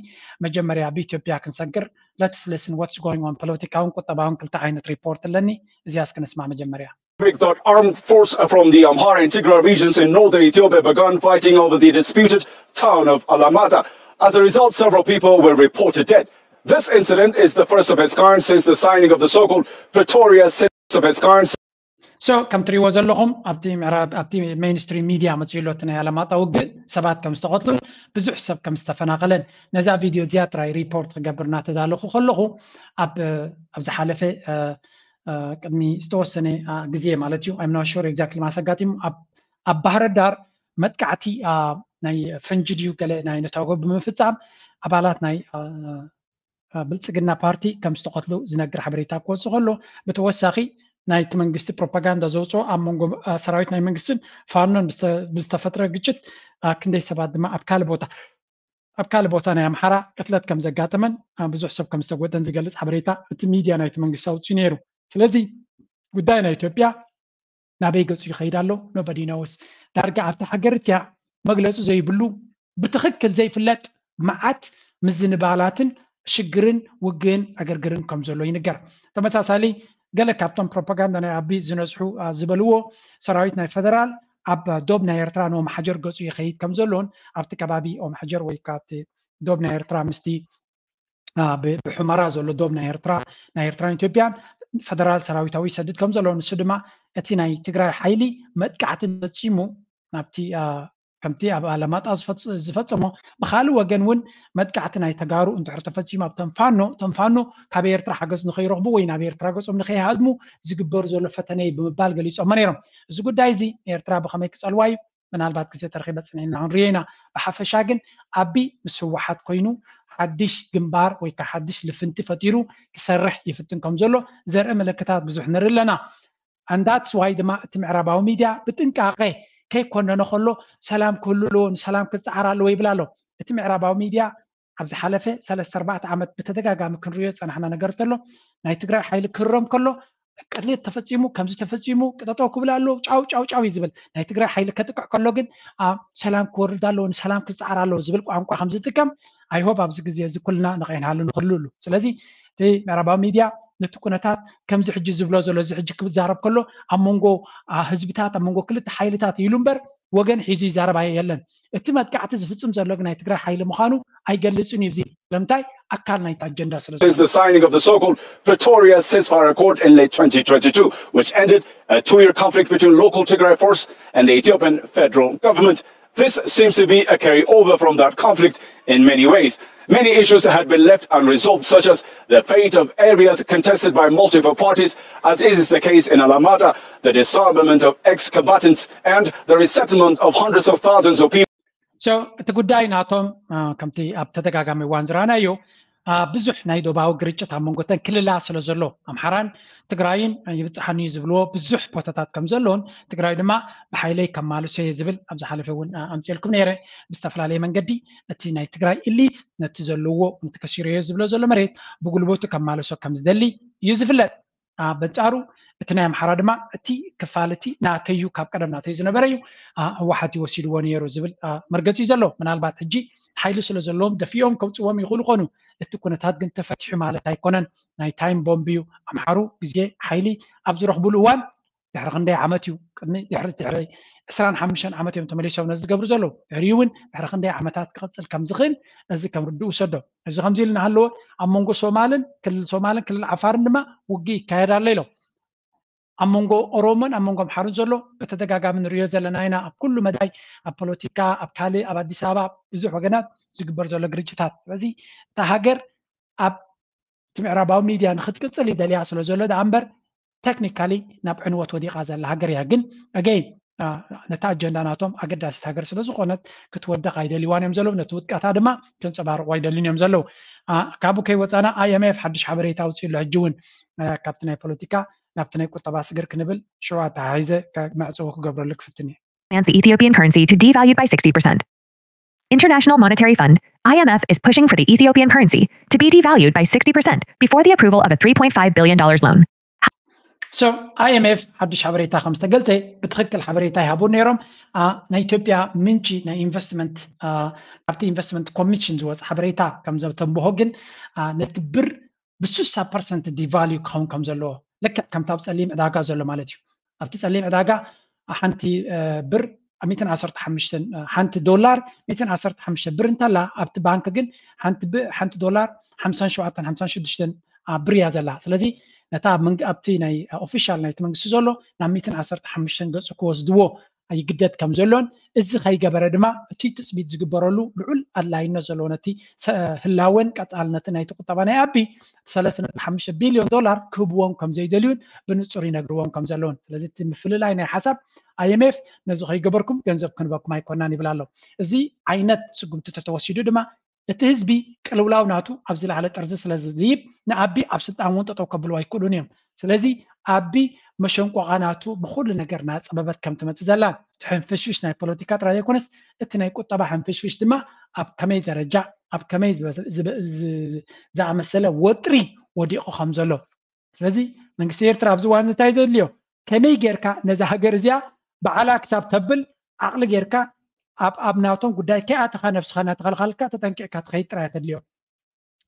መጀመርያ ብኢትዮጵያ ክንሰግር let's listen what's going on ፖለቲካውን ቁጠባውን ክልተ ዓይነት ሪፖርት ኣለኒ። እዚያስ ክንስማዕ መጀመርያ። That armed force from the Amhara and Tigray regions in northern Ethiopia began fighting over the disputed town of Alamata. As a result, several people were reported dead. This incident is the first of its kind since the signing of the so-called Pretoria Cease of its kind. So ከም ትሪእዎ ዘለኹም ኣብቲ ምዕራብ ኣብቲ ሜይንስትሪም ሚድያ መፅኡ ኣሎ እቲ ናይ ኣላማጣ ውግእ ሰባት ከም ዝተቐትሉን ብዙሕ ሰብ ከም ዝተፈናቐለን ነዛ ቪድዮ እዚኣ ጥራይ ሪፖርት ክገብር እናተዳለኹ ከለኹ ኣብ ኣብ ዝሓለፈ ቅድሚ ዝተወሰነ ግዜ ማለት እዩ I'm not sure exactly ማስ ኣጋጢሙ ኣብ ባህረ ዳር መጥቃዕቲ ናይ ፈንጂ ድዩ ገለ ናይ ነታጎ ብምፍፃም ኣባላት ናይ ብልፅግና ፓርቲ ከም ዝተቐትሉ ዝነግር ሓበሬታ ክወፅእ ከሎ ብተወሳኺ ናይቲ መንግስቲ ፕሮፓጋንዳ ዘውፅኦ ኣብ መንጎ ሰራዊት ናይ መንግስትን ፋኖን ብዝተፈጥረ ግጭት ክንደይ ሰባት ድማ ኣብ ካልእ ቦታ ኣብ ካልእ ቦታ ናይ ኣምሓራ ቅትለት ከም ዘጋጠመን ብዙሕ ሰብ ከም ዝተጎደን ዝገልፅ ሓበሬታ እቲ ሚድያ ናይቲ መንግስቲ ኣውፅኡ ነይሩ። ስለዚ ጉዳይ ናይ ኢትዮጵያ ናበይ ገፁ ይኸይድ ኣሎ nobody knows። ዳርጋ ኣብቲ ሃገር እቲያ መግለፂ ዘይብሉ ብትኽክል ዘይፍለጥ መዓት ምዝንባላትን ሽግርን ውግእን ዕግርግርን ከም ዘሎ ይንገር። ተመሳሳሊ ገለ ካብቶም ፕሮፓጋንዳ ናይ ኣቢ ዝነዝሑ ዝበልዎ ሰራዊት ናይ ፈደራል ኣብ ዶብ ናይ ኤርትራ ንኦም ሓጀር ገፁ ይኸይድ ከም ዘሎን ኣብቲ ከባቢ ኦም ሓጀር ወይ ካብቲ ዶብ ናይ ኤርትራ ምስቲ ብሑመራ ዘሎ ዶብ ናይ ኤርትራ ናይ ኤርትራን ኢትዮጵያን ፈደራል ሰራዊታዊ ይሰድድ ከም ዘሎ ንሱ ድማ እቲ ናይ ትግራይ ሓይሊ መጥቃዕቲ ፈፂሙ ናብቲ ከምቲ ኣብ ኣለማጣ ዝፈፀሞ ብካልእ ወገን እውን መጥቃዕቲ ናይ ተጋሩ እንድሕር ተፈፂሙ ኣብ ተንፋኖ ተንፋኖ ካብ ኤርትራ ሓገዝ ንከይረኽቡ ወይ ናብ ኤርትራ ገፆም ንከይሃድሙ ዝግበር ዘሎ ፈተነ እዩ ብምባል ገሊፆሞ ነይሮም። እዚ ጉዳይ እዚ ኤርትራ ብከመይ ክፀልዋ እዩ ምናልባት ግዜ ተረኺበ ፅንዕና ክንሪኦ ኢና። ብሓፈሻ ግን ኣቢ ምስ ህወሓት ኮይኑ ሓድሽ ግንባር ወይ ከዓ ሓድሽ ልፍንቲ ፈጢሩ ክሰርሕ ይፍትን ከም ዘሎ ዘርኢ ምልክታት ብዙሕ ንርኢ ኣለና። And that's why ድማ እቲ ምዕራባዊ ሚድያ ብጥንቃቄ ከይኮነኖ ከሎ ሰላም ክህሉ ኣለዎ ንሰላም ክፀዓር ኣለዎ ይብል ኣሎ። እቲ ምዕራባዊ ሚድያ ኣብ ዝሓለፈ ሰለስተ ኣርባዕተ ዓመት ብተደጋጋሚ ክንሪኦ ዝፀናሕና ነገር እንተሎ ናይ ትግራይ ሓይሊ ክህረም ከሎ ቅትለት ተፈፂሙ ከምዚ ተፈፂሙ ጠጠው ክብል ኣለዎ ጫው ጫው ጫው እዩ ዝብል። ናይ ትግራይ ሓይሊ ከጥቅዕ ከሎ ግን ሰላም ክወርድ ኣለዎ ንሰላም ክፀዓር ኣለዎ ዝብል ቋንቋ ከም ዝጥቀም I hope ኣብዚ ግዜ እዚ ኩልና ንኸይንሃሉ ንኽህልሉ። ስለዚ እቲ ምዕራባዊ ሚድያ ነቲ ኩነታት ከምዚ ሕጂ ዝብሎ ዘሎ፣ እዚ ሕጂ ክዛረብ ከሎ ኣብ መንጎ ህዝብታት፣ ኣብ መንጎ ክልተ ሓይልታት ኢሉ እምበር ወገን ሒዙ ይዛረብ የለን። እቲ መጥቃዕቲ ዝፍፅም ዘሎ ግን ናይ ትግራይ ሓይሊ ምዃኑ ኣይገልፅን እዩ። እዚ ስለምንታይ? ኣካል ናይቲ ኣጀንዳ ስለ Since the signing of the so-called Pretoria ceasefire accord in late twenty twenty-two, which ended a two-year conflict between local Tigray force and the Ethiopian federal government, this seems to be a carryover from that conflict in many ways. Many issues had been left unresolved, such as the fate of areas contested by multiple parties, as is the case in Alamata, the disarmament of ex-combatants, and the resettlement of hundreds of thousands of people. So እቲ ጉዳይ ናቶም ከምቲ ኣብ ተደጋጋሚ እዋን ዝረኣናዮ ብዙሕ ናይ ዶባዊ ግርጭት ኣብ መንጎተን ክልላ ስለ ዘሎ ኣምሓራን ትግራይን ይብፅሓኒ ዝብልዎ ብዙሕ ቦታታት ከም ዘለውን ትግራይ ድማ ብሓይለይ ከማልሶ እየ ዝብል ኣብ ዝሓለፈ እውን ኣምፅልኩም ነይረ። ብዝተፈላለየ መንገዲ እቲ ናይ ትግራይ ኢሊት ነቲ ዘለዎ ነቲ ከሲሮዮ ዝብሎ ዘሎ መሬት ብጉልበቱ ከማልሶ ከም ዝደሊ እዩ ዝፍለጥ። በንፃሩ እቲ ናይ ኣምሓራ ድማ እቲ ክፋል እቲ ናተዩ ካብ ቀደም ናተዩ ዝነበረ እዩ፣ ህወሓት ይወሲድዎ ነይሩ ዝብል መርገፂ እዩ ዘሎ። ምናልባት ሕጂ ሓይሊ ስለ ዘለዎም ደፊኦም ከውፅዎም ይኽእሉ ኮኑ። እቲ ኩነታት ግን ተፈቲሑ ማለት ኣይኮነን። ናይ ታይም ቦምብ እዩ። ኣምሓሩ ግዜ ሓይሊ ኣብ ዝረኽቡሉ እዋን ድሕሪ ክንደይ ዓመት እዩ ቅድሚ ድሕሪ ድሕሪ ዕስራን ሓሙሽተን ዓመት እዮም ተመሊሶም ነዚ ዝገብሩ ዘለዉ። ድሕሪኡ እውን ድሕሪ ክንደይ ዓመታት ክቕፅል ከም ዝኽእል እዚ ከም ርድኡ ውሰዶ። እዚ ከምዚ ኢሉ እናሃለወ ኣብ መንጎ ሶማልን ክልል ሶማልን ክልል ዓፋርን ድማ ውግእ ይካየድ ኣሎ ኢሎም። ኣብ መንጎ ኦሮሞን ኣብ መንጎ ኣምሓሩን ዘሎ ብተደጋጋሚ ንሪኦ ዘለና ኢና። ኣብ ኩሉ መዳይ ኣብ ፖለቲካ ኣብ ካልእ ኣብ ኣዲስ ኣበባ ብዙሕ ወገናት ዝግበር ዘሎ ግርጭታት። ስለዚ እታ ሃገር ኣብ እቲ ምዕራባዊ ሚድያ ንክትቅፅል ይደልያ ስለ ዘሎ ደኣ እምበር ቴክኒካሊ ናብ ዕንወት ወዲቓ ዘላ ሃገር እያ። ግን ኣገይን ነታ ኣጀንዳ ናቶም ኣገዳሲት ሃገር ስለ ዝኾነት ክትወድቕ ኣይደልዋን እዮም ዘለዉ። ነቲ ውድቀታ ድማ ከንፀባርቑ ኣይደልን እዮም ዘለዉ። ካብኡ ከይወፃና ኣይኤምኤፍ ሓድሽ ሓበሬታ ኣውፅኡ ኣሎ። ሕጂ እውን ካብቲ ናይ ፖለቲካ ናብቲ ናይ ቁጠባ ስግር ክንብል ሽዑ ኣተሓሒዘ መዕፀዊ ክገብረሉ ክፍትን እየ። Plans the Ethiopian currency to devalued by sixty percent. International Monetary Fund, I M F, is pushing for the Ethiopian currency to be devalued by sixty percent before the approval of a three point five billion dollars loan. So I M F ሓድሽ ሓበሬታ ከም ዝተገልጸ ብትኽክል ሓበሬታ ይሃቡ ነይሮም። ናይ ኢትዮጵያ ምንጪ ናይ ኢንቨስትመንት ካብቲ ኢንቨስትመንት ኮሚሽን ዝወፀ ሓበሬታ ከም ዘተንብሆ ግን ነቲ ብር ብስሳ ፐርሰንት ዲቫልዩ ክኸውን ከም ዘለዎ ልክዕ ከምቲ ኣብ ፀሊም ዕዳጋ ዘሎ ማለት እዩ። ኣብቲ ፀሊም ዕዳጋ ሓንቲ ብር ሚእትን ዓሰርተ ሓሙሽተን ሓንቲ ዶላር ሚእትን ዓሰርተ ሓሙሽተ ብር እንተላ ኣብቲ ባንክ ግን ሓንቲ ብ- ሓንቲ ዶላር ሓምሳን ሸውዓተን ሓምሳን ሽዱሽተን ብር እያ ዘላ። ስለዚ ነታ ኣብ መንግ- ኣብቲ ናይ ኦፊሻል ናይቲ መንግስቲ ዘሎ ናብ ሚእትን ዓሰርተ ሓሙሽተን ገፁ ክወስድዎ ይግደድ ከም ዘሎን እዚ ከይገበረ ድማ እቲ ትፅቢት ዝግበረሉ ልዑል ኣድላይነት ዘለዎ ነቲ ሰ- ህላወን ቀፃልነትን ናይቲ ቁጠባ ናይ ኣቢ ሰለስተ ነጥቢ ሓሙሽተ ቢልዮን ዶላር ክህብዎም ከም ዘይደልዩን ብንፁር ይነግርዎም ከም ዘለውን። ስለዚ እቲ ምፍልላይ ናይ ሓሳብ ኣይ ኤም ኤፍ ነዚ ከይገበርኩም ገንዘብ ክንበኩም ኣይኮናን ይብል ኣሎ። እዚ ዓይነት ስጉምቲ ተተወሲዱ ድማ እቲ ህዝቢ ቅልውላው ናቱ ኣብ ዝለዓለ ጥርዚ ስለ ዝይብ ንኣቢ ኣብ ስልጣን እውን ጠጠው ከብልዎ ኣይክእሉን እዮም። ስለዚ ኣቢ መሸንቆቓ ናቱ ብኩሉ ነገር ናፀበበት ከም ትመፅእ ዘላ እቲ ሕንፍሽፍሽ ናይ ፖለቲካ ጥራይ ዘይኮነስ እቲ ናይ ቁጠባ ሕንፍሽፍሽ ድማ ኣብ ከመይ ደረጃ ኣብ ከመይ ዝበ- ዝበ- ዝ- ዝኣመሰለ ወጥሪ ወዲቑ ከም ዘሎ። ስለዚ መንግስቲ ኤርትራ ኣብዚ እዋን እዚ እንታይ ዘድልዮ ከመይ ጌርካ ነዛ ሃገር እዚኣ በዓላ ክሳብ ተብል ዓቕሊ ጌርካ ኣብ ኣብ ናቶም ጉዳይ ከይኣተኻ ነብስኻ እናተኸልኻልካ ተጠንቂቕካ ትኸይድ ጥራይ ተድልዮ።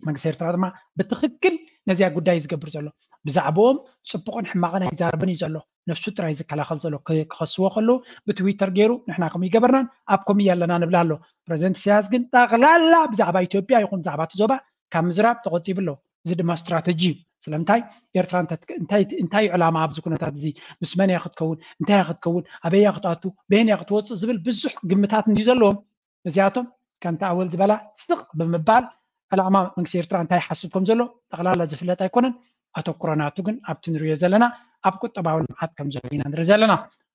መንግስቲ ኤርትራ ድማ ብትኽክል ነዚኣ ጉዳይ እዩ ዝገብር ዘሎ። ብዛዕባኦም ፅቡቕን ሕማቕን ኣይዛረብን እዩ ዘሎ። ነብሱ ጥራይ ዝከላኸል ዘሎ ክ- ክኸስዎ ከለዉ ብትዊተር ገይሩ ንሕና ከምኡ ይገበርናን ኣብ ከምኡ ኣለና ንብል ኣሎ። ፕረዚደንት ኢሳያስ ግን ጠቕላላ ብዛዕባ ኢትዮጵያ ይኹን ብዛዕባ እቲ ዞባ ካብ ምዝራብ ተቆጢቡ ኣሎ። እዚ ድማ ስትራተጂ እዩ። ስለምንታይ ኤርትራ እንታይ እንታይ እንታይ እዩ ዕላማ ኣብዚ ኩነታት እዚ ምስ መን እያ ክትከውን እንታይ እያ ክትከውን ኣበይ እያ ክትኣቱ በየን እያ ክትወፅእ ዝብል ብዙሕ ግምታት እንዲ ዘለዎም እዚኣቶም ከምቲ ኣወል ዝበላ ስቕ ብምባል ዕላማ መንግስቲ ኤርትራ እንታይ ይሓስብ ከም ዘሎ ጠቕላላ ዝፍለጥ ኣይኮነን። ኣተኩሮ ናቱ ግን ኣብቲ ንሪኦ ዘለና ኣብ ቁጠባዊ ልምዓት ከም ዘሎ ኢና ንርኢ ዘለና።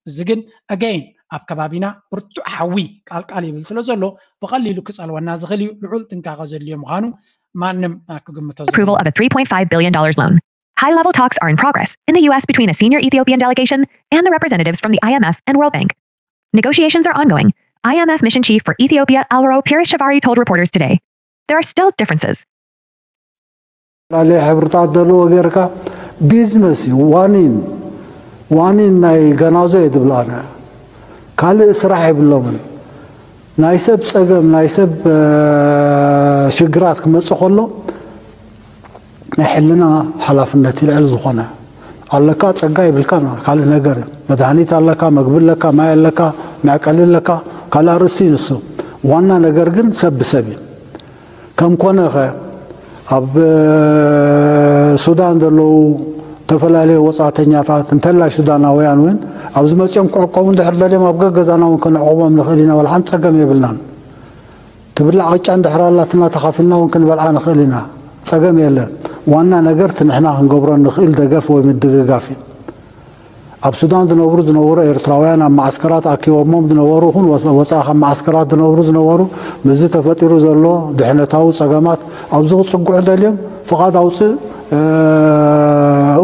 እዚ ግን ኣገይን ኣብ ከባቢና ብርቱዕ ሓዊ ቃልቃል ይብል ስለ ዘሎ ብቐሊሉ ክጸልወና ዝኽእል እዩ። ልዑል ጥንቃቐ ዘድልዮ ምዃኑ ማንም ክግምቶ approval of a three point five billion dollars loan. High level talks are in progress in the U S between a senior Ethiopian delegation and the representatives from the I M F and World Bank. Negotiations are ongoing, I M F mission chief for Ethiopia Alwaro Pires Shavari told reporters today. There are still differences. ላለየ ሕብርታት ዘለዎ ጌርካ ቢዝነስ እዩ ዋኒን ዋኒን ናይ ገናዞ እየ ዝብላና ካልእ ስራሕ የብሎምን ናይ ሰብ ፀገም ናይ ሰብ ሽግራት ክመፅእ ከሎ ናይ ሕልና ሓላፍነት እዩ ልዕሊ ዝኾነ። ኣለካ ጸጋ ይብልካ ካልእ ነገር እዩ። መድሃኒት ኣለካ፣ መግቢ ኣለካ፣ ማይ ኣለካ፣ መዕቀሊ ኣለካ፣ ካልእ ኣርእስቲ እዩ ንሱ። ዋና ነገር ግን ሰብ ብሰብ እዩ። ከም ኮነ ኸ ኣብ ሱዳን ዘለዉ ዝተፈላለዩ ወጻእተኛታት እንተላይ ሱዳናውያን እውን ኣብዚ መጺኦም ክዕቆቡ እንድሕር ደልዮም ኣብ ገገዛና እውን ክንዕቆቦም ንኽእል ኢና። ዋላ ሓንቲ ጸገም የብልናን። ትብላዕ ቅጫ እንድሕር ኣላትና ተኻፊልና እውን ክንበልዓ ንኽእል ኢና። ጸገም የለን። ዋና ነገር እቲ ንሕና ክንገብሮ ንኽእል ደገፍ ወይ ምድግጋፍ እዩ። ኣብ ሱዳን ዝነብሩ ዝነበሩ ኤርትራውያን ኣብ መዓስከራት ኣኪቦሞም ዝነበሩ ይኹን ወፃኢ ካብ መዓስከራት ዝነብሩ ዝነበሩ ምስዚ ተፈጢሩ ዘሎ ድሕነታዊ ጸገማት ኣብዚ ክጽግዑ ደልዮም ፍቓድ ኣውፅእ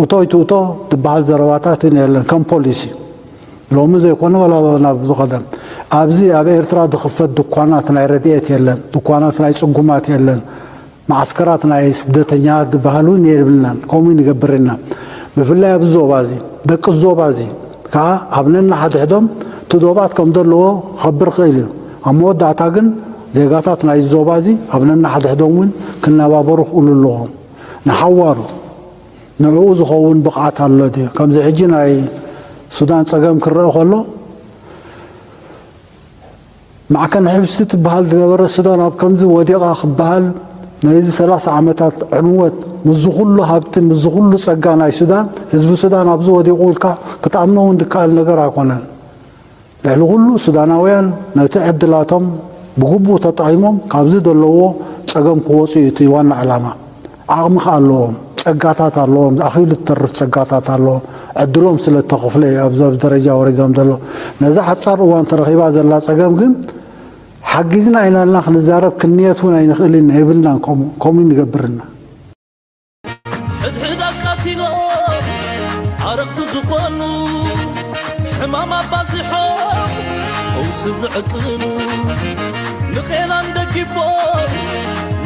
እቶ ይትእቶ ዝበሃል ዘረባታት እውን የለን ከም ፖሊሲ። ሎሚ ዘይኮነ ዋላ ናብ ዝቐደም ኣብዚ ኣብ ኤርትራ ዝኽፈት ድኳናት ናይ ረድኤት የለን፣ ድኳናት ናይ ጽጉማት የለን፣ መዓስከራት ናይ ስደተኛታት ዝበሃል እውን የብልናን። ከምኡ ንገብር ኢና። ብፍላይ ኣብዚ ዞባ እዚ ደቂ ዞባ እዚ ከዓ ኣብ ነናሓድሕዶም እቲ ዶባት ከም ዘለዎ ክኸብር ክእል እዩ። ኣብ መወዳእታ ግን ዜጋታት ናይ ዞባ እዚ ኣብ ነናሓድሕዶም እውን ክነባበሩ ክእሉ ኣለዎም። ንሓዋሩ ንዕኡ ዝኸውን ብቕዓት ኣሎ ድዩ? ከምዚ ሕጂ ናይ ሱዳን ጸገም ክረአ ከሎ ማዕከን ሕብስቲ ትበሃል ዝነበረ ሱዳን ኣብ ከምዚ ወዲቓ ክበሃል ነዚ ሰላሳ ዓመታት ዕንወት ምስዚ ኩሉ ሃብቲ ምስዚ ኩሉ ጸጋ ናይ ሱዳን ህዝቢ ሱዳን ኣብዚ ወዲቑ ኢልካ ክትኣምኖ እውን ዝከኣል ነገር ኣይኮነን። ልዕሊ ኩሉ ሱዳናውያን ነቲ ዕድላቶም ብግቡእ ተጠቒሞም ካብዚ ዘለዎ ጸገም ክወፁ እዩ እቲ ዋና ዕላማ። ዓቕሚ ከ ኣለዎም፣ ጸጋታት ኣለዎም፣ ኣኺሉ ዝተርፍ ጸጋታት ኣለዎም። ዕድሎም ስለ እተኸፍለ እዩ ኣብዚ ኣብዚ ደረጃ ወሪዶም ዘሎ። ነዛ ሓጻር እዋን ተረኺባ ዘላ ጸገም ግን ሓጊዝና ኢና ኢልና ክንዛረብ ክንየት እውን ኣይንኽእልን የብልናን። ከምኡ ከምኡ ንገብርና። ሕድሕድ ኣቃቲሎም ዓረቕቲ ዝኾኑ ሕማም ኣባዚሖም ፈውሲ ዝዕቅኑ ንቄናን ደጊፎም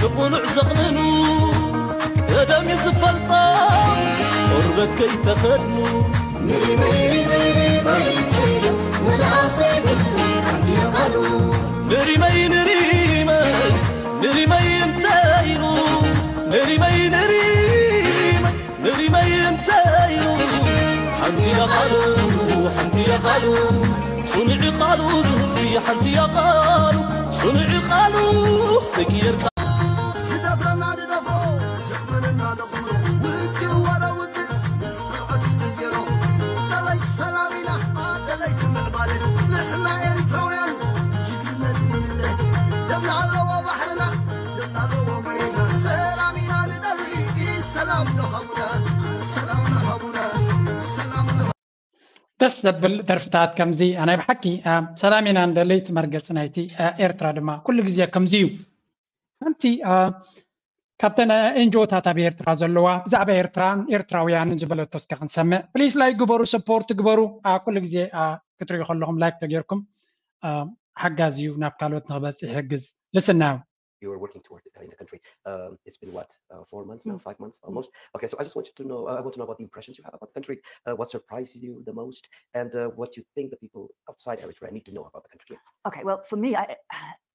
ንቑኑዕ ዘቕንኑ ቀደም እዩ ዝፈልጦም ቆርበት ከይተኸድኑ ንሪመይ ንሪመይ ንሪመይ ንሪመይ ንሪመይ ንሪመይ እንታይ ኢሉ ንሪመይ ንሪመይ ንሪመይ እንታይ ኢሉ ሓንቲ እያ ቃሉ ሓንቲ እያ ቃሉ ጽኑዕ ቃሉ ዝህዝቢ ሓንቲ እያ ቃሉ ጽኑዕ ቃሉ ዘይቅየር ቃሉ ዝደፍረና ንደፍሮ ዘኽመለና ንኹምሮ ውግእ ወረ ውግእ ንስርዓት ዜሮ ደለይት ሰላም ኢና ደለይት ምዕባለ ንሕና ኤሪትራውያን ጅግንነት ንለ ደምና ኣለዎ ባሕርና ደምና ኣለዎ መሬትና ሰላም ኢና ንደሊ ሰላም ንሃቡና ሰላም ንሃቡና ሰላም ንሃቡና ደስ ዘብል ደርፍታት ከምዚ ናይ ብሓቂ ሰላም ኢና ንደሊ እቲ መርገፂ ናይቲ ኤርትራ ድማ ኩሉ ግዜ ከምዚ እዩ ሓንቲ ካብተን ኤንጂኦታት ኣብ ኤርትራ ዘለዋ ብዛዕባ ኤርትራን ኤርትራውያንን ዝበለቶ እስከ ክንሰምዕ please like ግበሩ support ግበሩ ኩሉ ግዜ ክትሪኡ ከለኹም like ተጌርኩም ሓጋዚ እዩ ናብ ካልኦት ንክበፅሕ ይሕግዝ ልስናዮም you were working toward uh, in the country. Um, it's been what, uh, four months now, five months almost? Okay, so I just wanted to know, uh, I want to know about the impressions you have about the country, uh, what surprised you the most, and uh, what you think the people outside Eritrea need to know about the country. Okay, well, for me, I,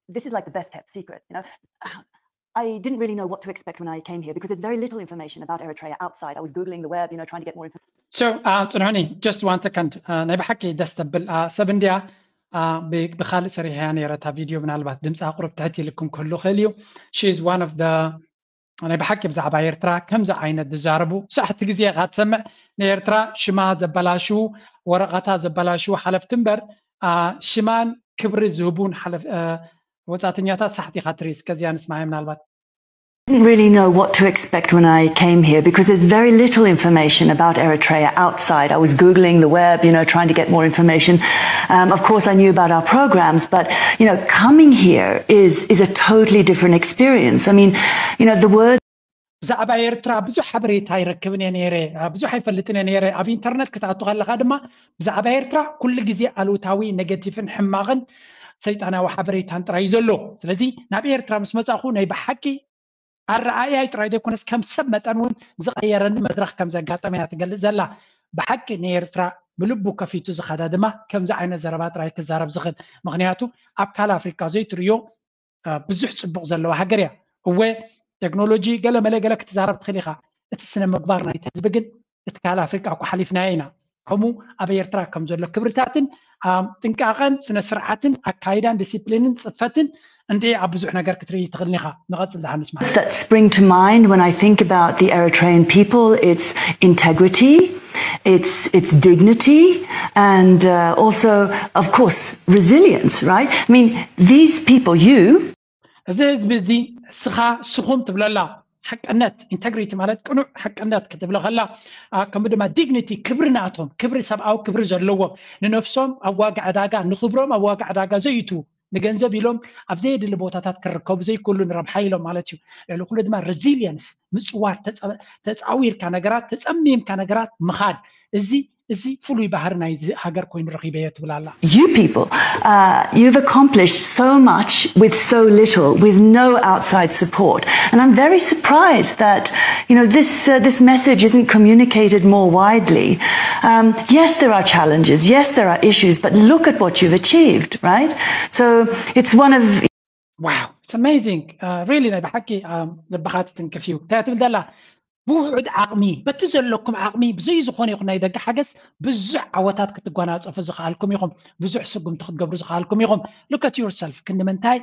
this is like the best kept secret, you know. I didn't really know what to expect when I came here because there's very little information about Eritrea outside. I was Googling the web, you know, trying to get more information. So, uh, ጽንሑኒ, just one second. Uh, ናይ ብሓቂ ደስ ተብል uh, ሰብ እንድያ ብካልእ ሰሪሐያ ነረ እታ ቪድዮ ምናልባት ድምፂ ኣቁሩብ ትሕት ኢልኩም ክህሉ ክእል እዩ she is one of the ናይ ብሓቂ ብዛዕባ ኤርትራ ከምዚ ዓይነት ዝዛረቡ ሳሕቲ ግዜ ኢኻ ትሰምዕ ንኤርትራ ሽማ ዘበላሽዉ ወረቐታ ዘበላሽዉ ሓለፍቲ እምበር ሽማን ክብሪ ዝህቡን ወፃእተኛታት ሳሕቲ ኢኻ ትርኢ እስከዚያ ንስማዒ ምናልባት didn't really know what to expect when I came here because there's very little information about Eritrea outside. I was Googling the web, you know, trying to get more information. Um, of course, I knew about our programs, but, you know, coming here is, is a totally different experience. I mean, you know, the word ብዛዕባ ኤርትራ ብዙሕ ሓበሬታ ይረክብን እየ ነይረ ብዙሕ ኣይፈልጥን እየ ነይረ ኣብ ኢንተርነት ክትኣቱ ከለካ ድማ ብዛዕባ ኤርትራ ኩሉ ግዜ ኣሉታዊ ኔጌቲቭን ሕማቕን ሰይጣናዊ ሓበሬታን ጥራይ እዩ ዘሎ ስለዚ ናብ ኤርትራ ምስ መጻእኹ ናይ ብሓቂ ኣረኣእያይ ጥራይ ዘይኮነስ ከም ሰብ መጠን እውን ዝቐየረኒ መድረኽ ከም ዘጋጠመ እያ ትገልጽ ዘላ። ብሓቂ ንኤርትራ ብልቡ ከፊቱ ዝኸዳ ድማ ከምዚ ዓይነት ዘረባ ጥራይ ክዛረብ ዝኽእል። ምኽንያቱ ኣብ ካልእ ኣፍሪቃ ዘይትርእዮ ብዙሕ ጽቡቕ ዘለዋ ሃገር እያ። እወ ቴክኖሎጂ ገለ መለ ገለ ክትዛረብ ትኽእል ኢኻ። እቲ ስነ ምግባር ናይቲ ህዝቢ ግን እቲ ካልእ ኣፍሪቃ እኮ ሓሊፍናዮ ኢና። ከምኡ ኣብ ኤርትራ ከም ዘሎ ክብርታትን ጥንቃቐን ስነ ስርዓትን ኣካይዳን ዲሲፕሊንን ጽፈትን እንዲ ኣብ ብዙሕ ነገር ክትርኢ ትኽእል ኢኻ። ንቐጽል ደሓን ንስማ። That spring to mind when I think about the Eritrean people, it's integrity, it's it's dignity, and uh, also, of course, resilience. Right? I mean, these people, you እዚ ህዝቢ እዚ ስኻ ስኹም ትብለላ ሓቅነት፣ ኢንተግሪቲ ማለት ቅኑዕ ሓቅነት ክትብሎ ከላ፣ ከምኡ ድማ ዲግኒቲ፣ ክብሪ ናቶም፣ ክብሪ፣ ሰብኣዊ ክብሪ ዘለዎም፣ ንነፍሶም ኣብ ዋጋ ዕዳጋ፣ ንኽብሮም ኣብ ዋጋ ዕዳጋ ዘዩትዉ፣ ንገንዘብ ኢሎም ኣብ ዘየድሊ ቦታታት ክርከቡ ዘይክእሉ፣ ንረብሓ ኢሎም ማለት እዩ። ልዕሊ ኩሉ ድማ ሬዚሊየንስ፣ ምፅዋር፣ ተፃዊርካ ነገራት፣ ተፀሚምካ ነገራት ምኻድ። እዚ እዚ ፍሉይ ባህሪ ናይዚ ሃገር ኮይኑ ረኺበዮ ትብል ኣላ። You people, uh, you've accomplished so much with so little, with no outside support. And I'm very surprised that, you know, this, uh, this message isn't communicated more widely. Um, yes, there are challenges. Yes, there are issues, but look at what you've achieved, right? So it's one of Wow, it's amazing. Uh, really ናይ ብሓቂ ልብኻ ትትንክፍ እዩ። እንታይ ትብል ዘላ? ብውሑድ ዓቕሚ፣ በቲ ዘለኩም ዓቕሚ፣ ብዘይ ዝኾነ ይኹን ናይ ደገ ሓገዝ ብዙሕ ዓወታት ክትጓናጸፉ ዝኸኣልኩም ኢኹም። ብዙሕ ስጉምቲ ክትገብሩ ዝኸኣልኩም ኢኹም። Look at yourself። ክንዲ ምንታይ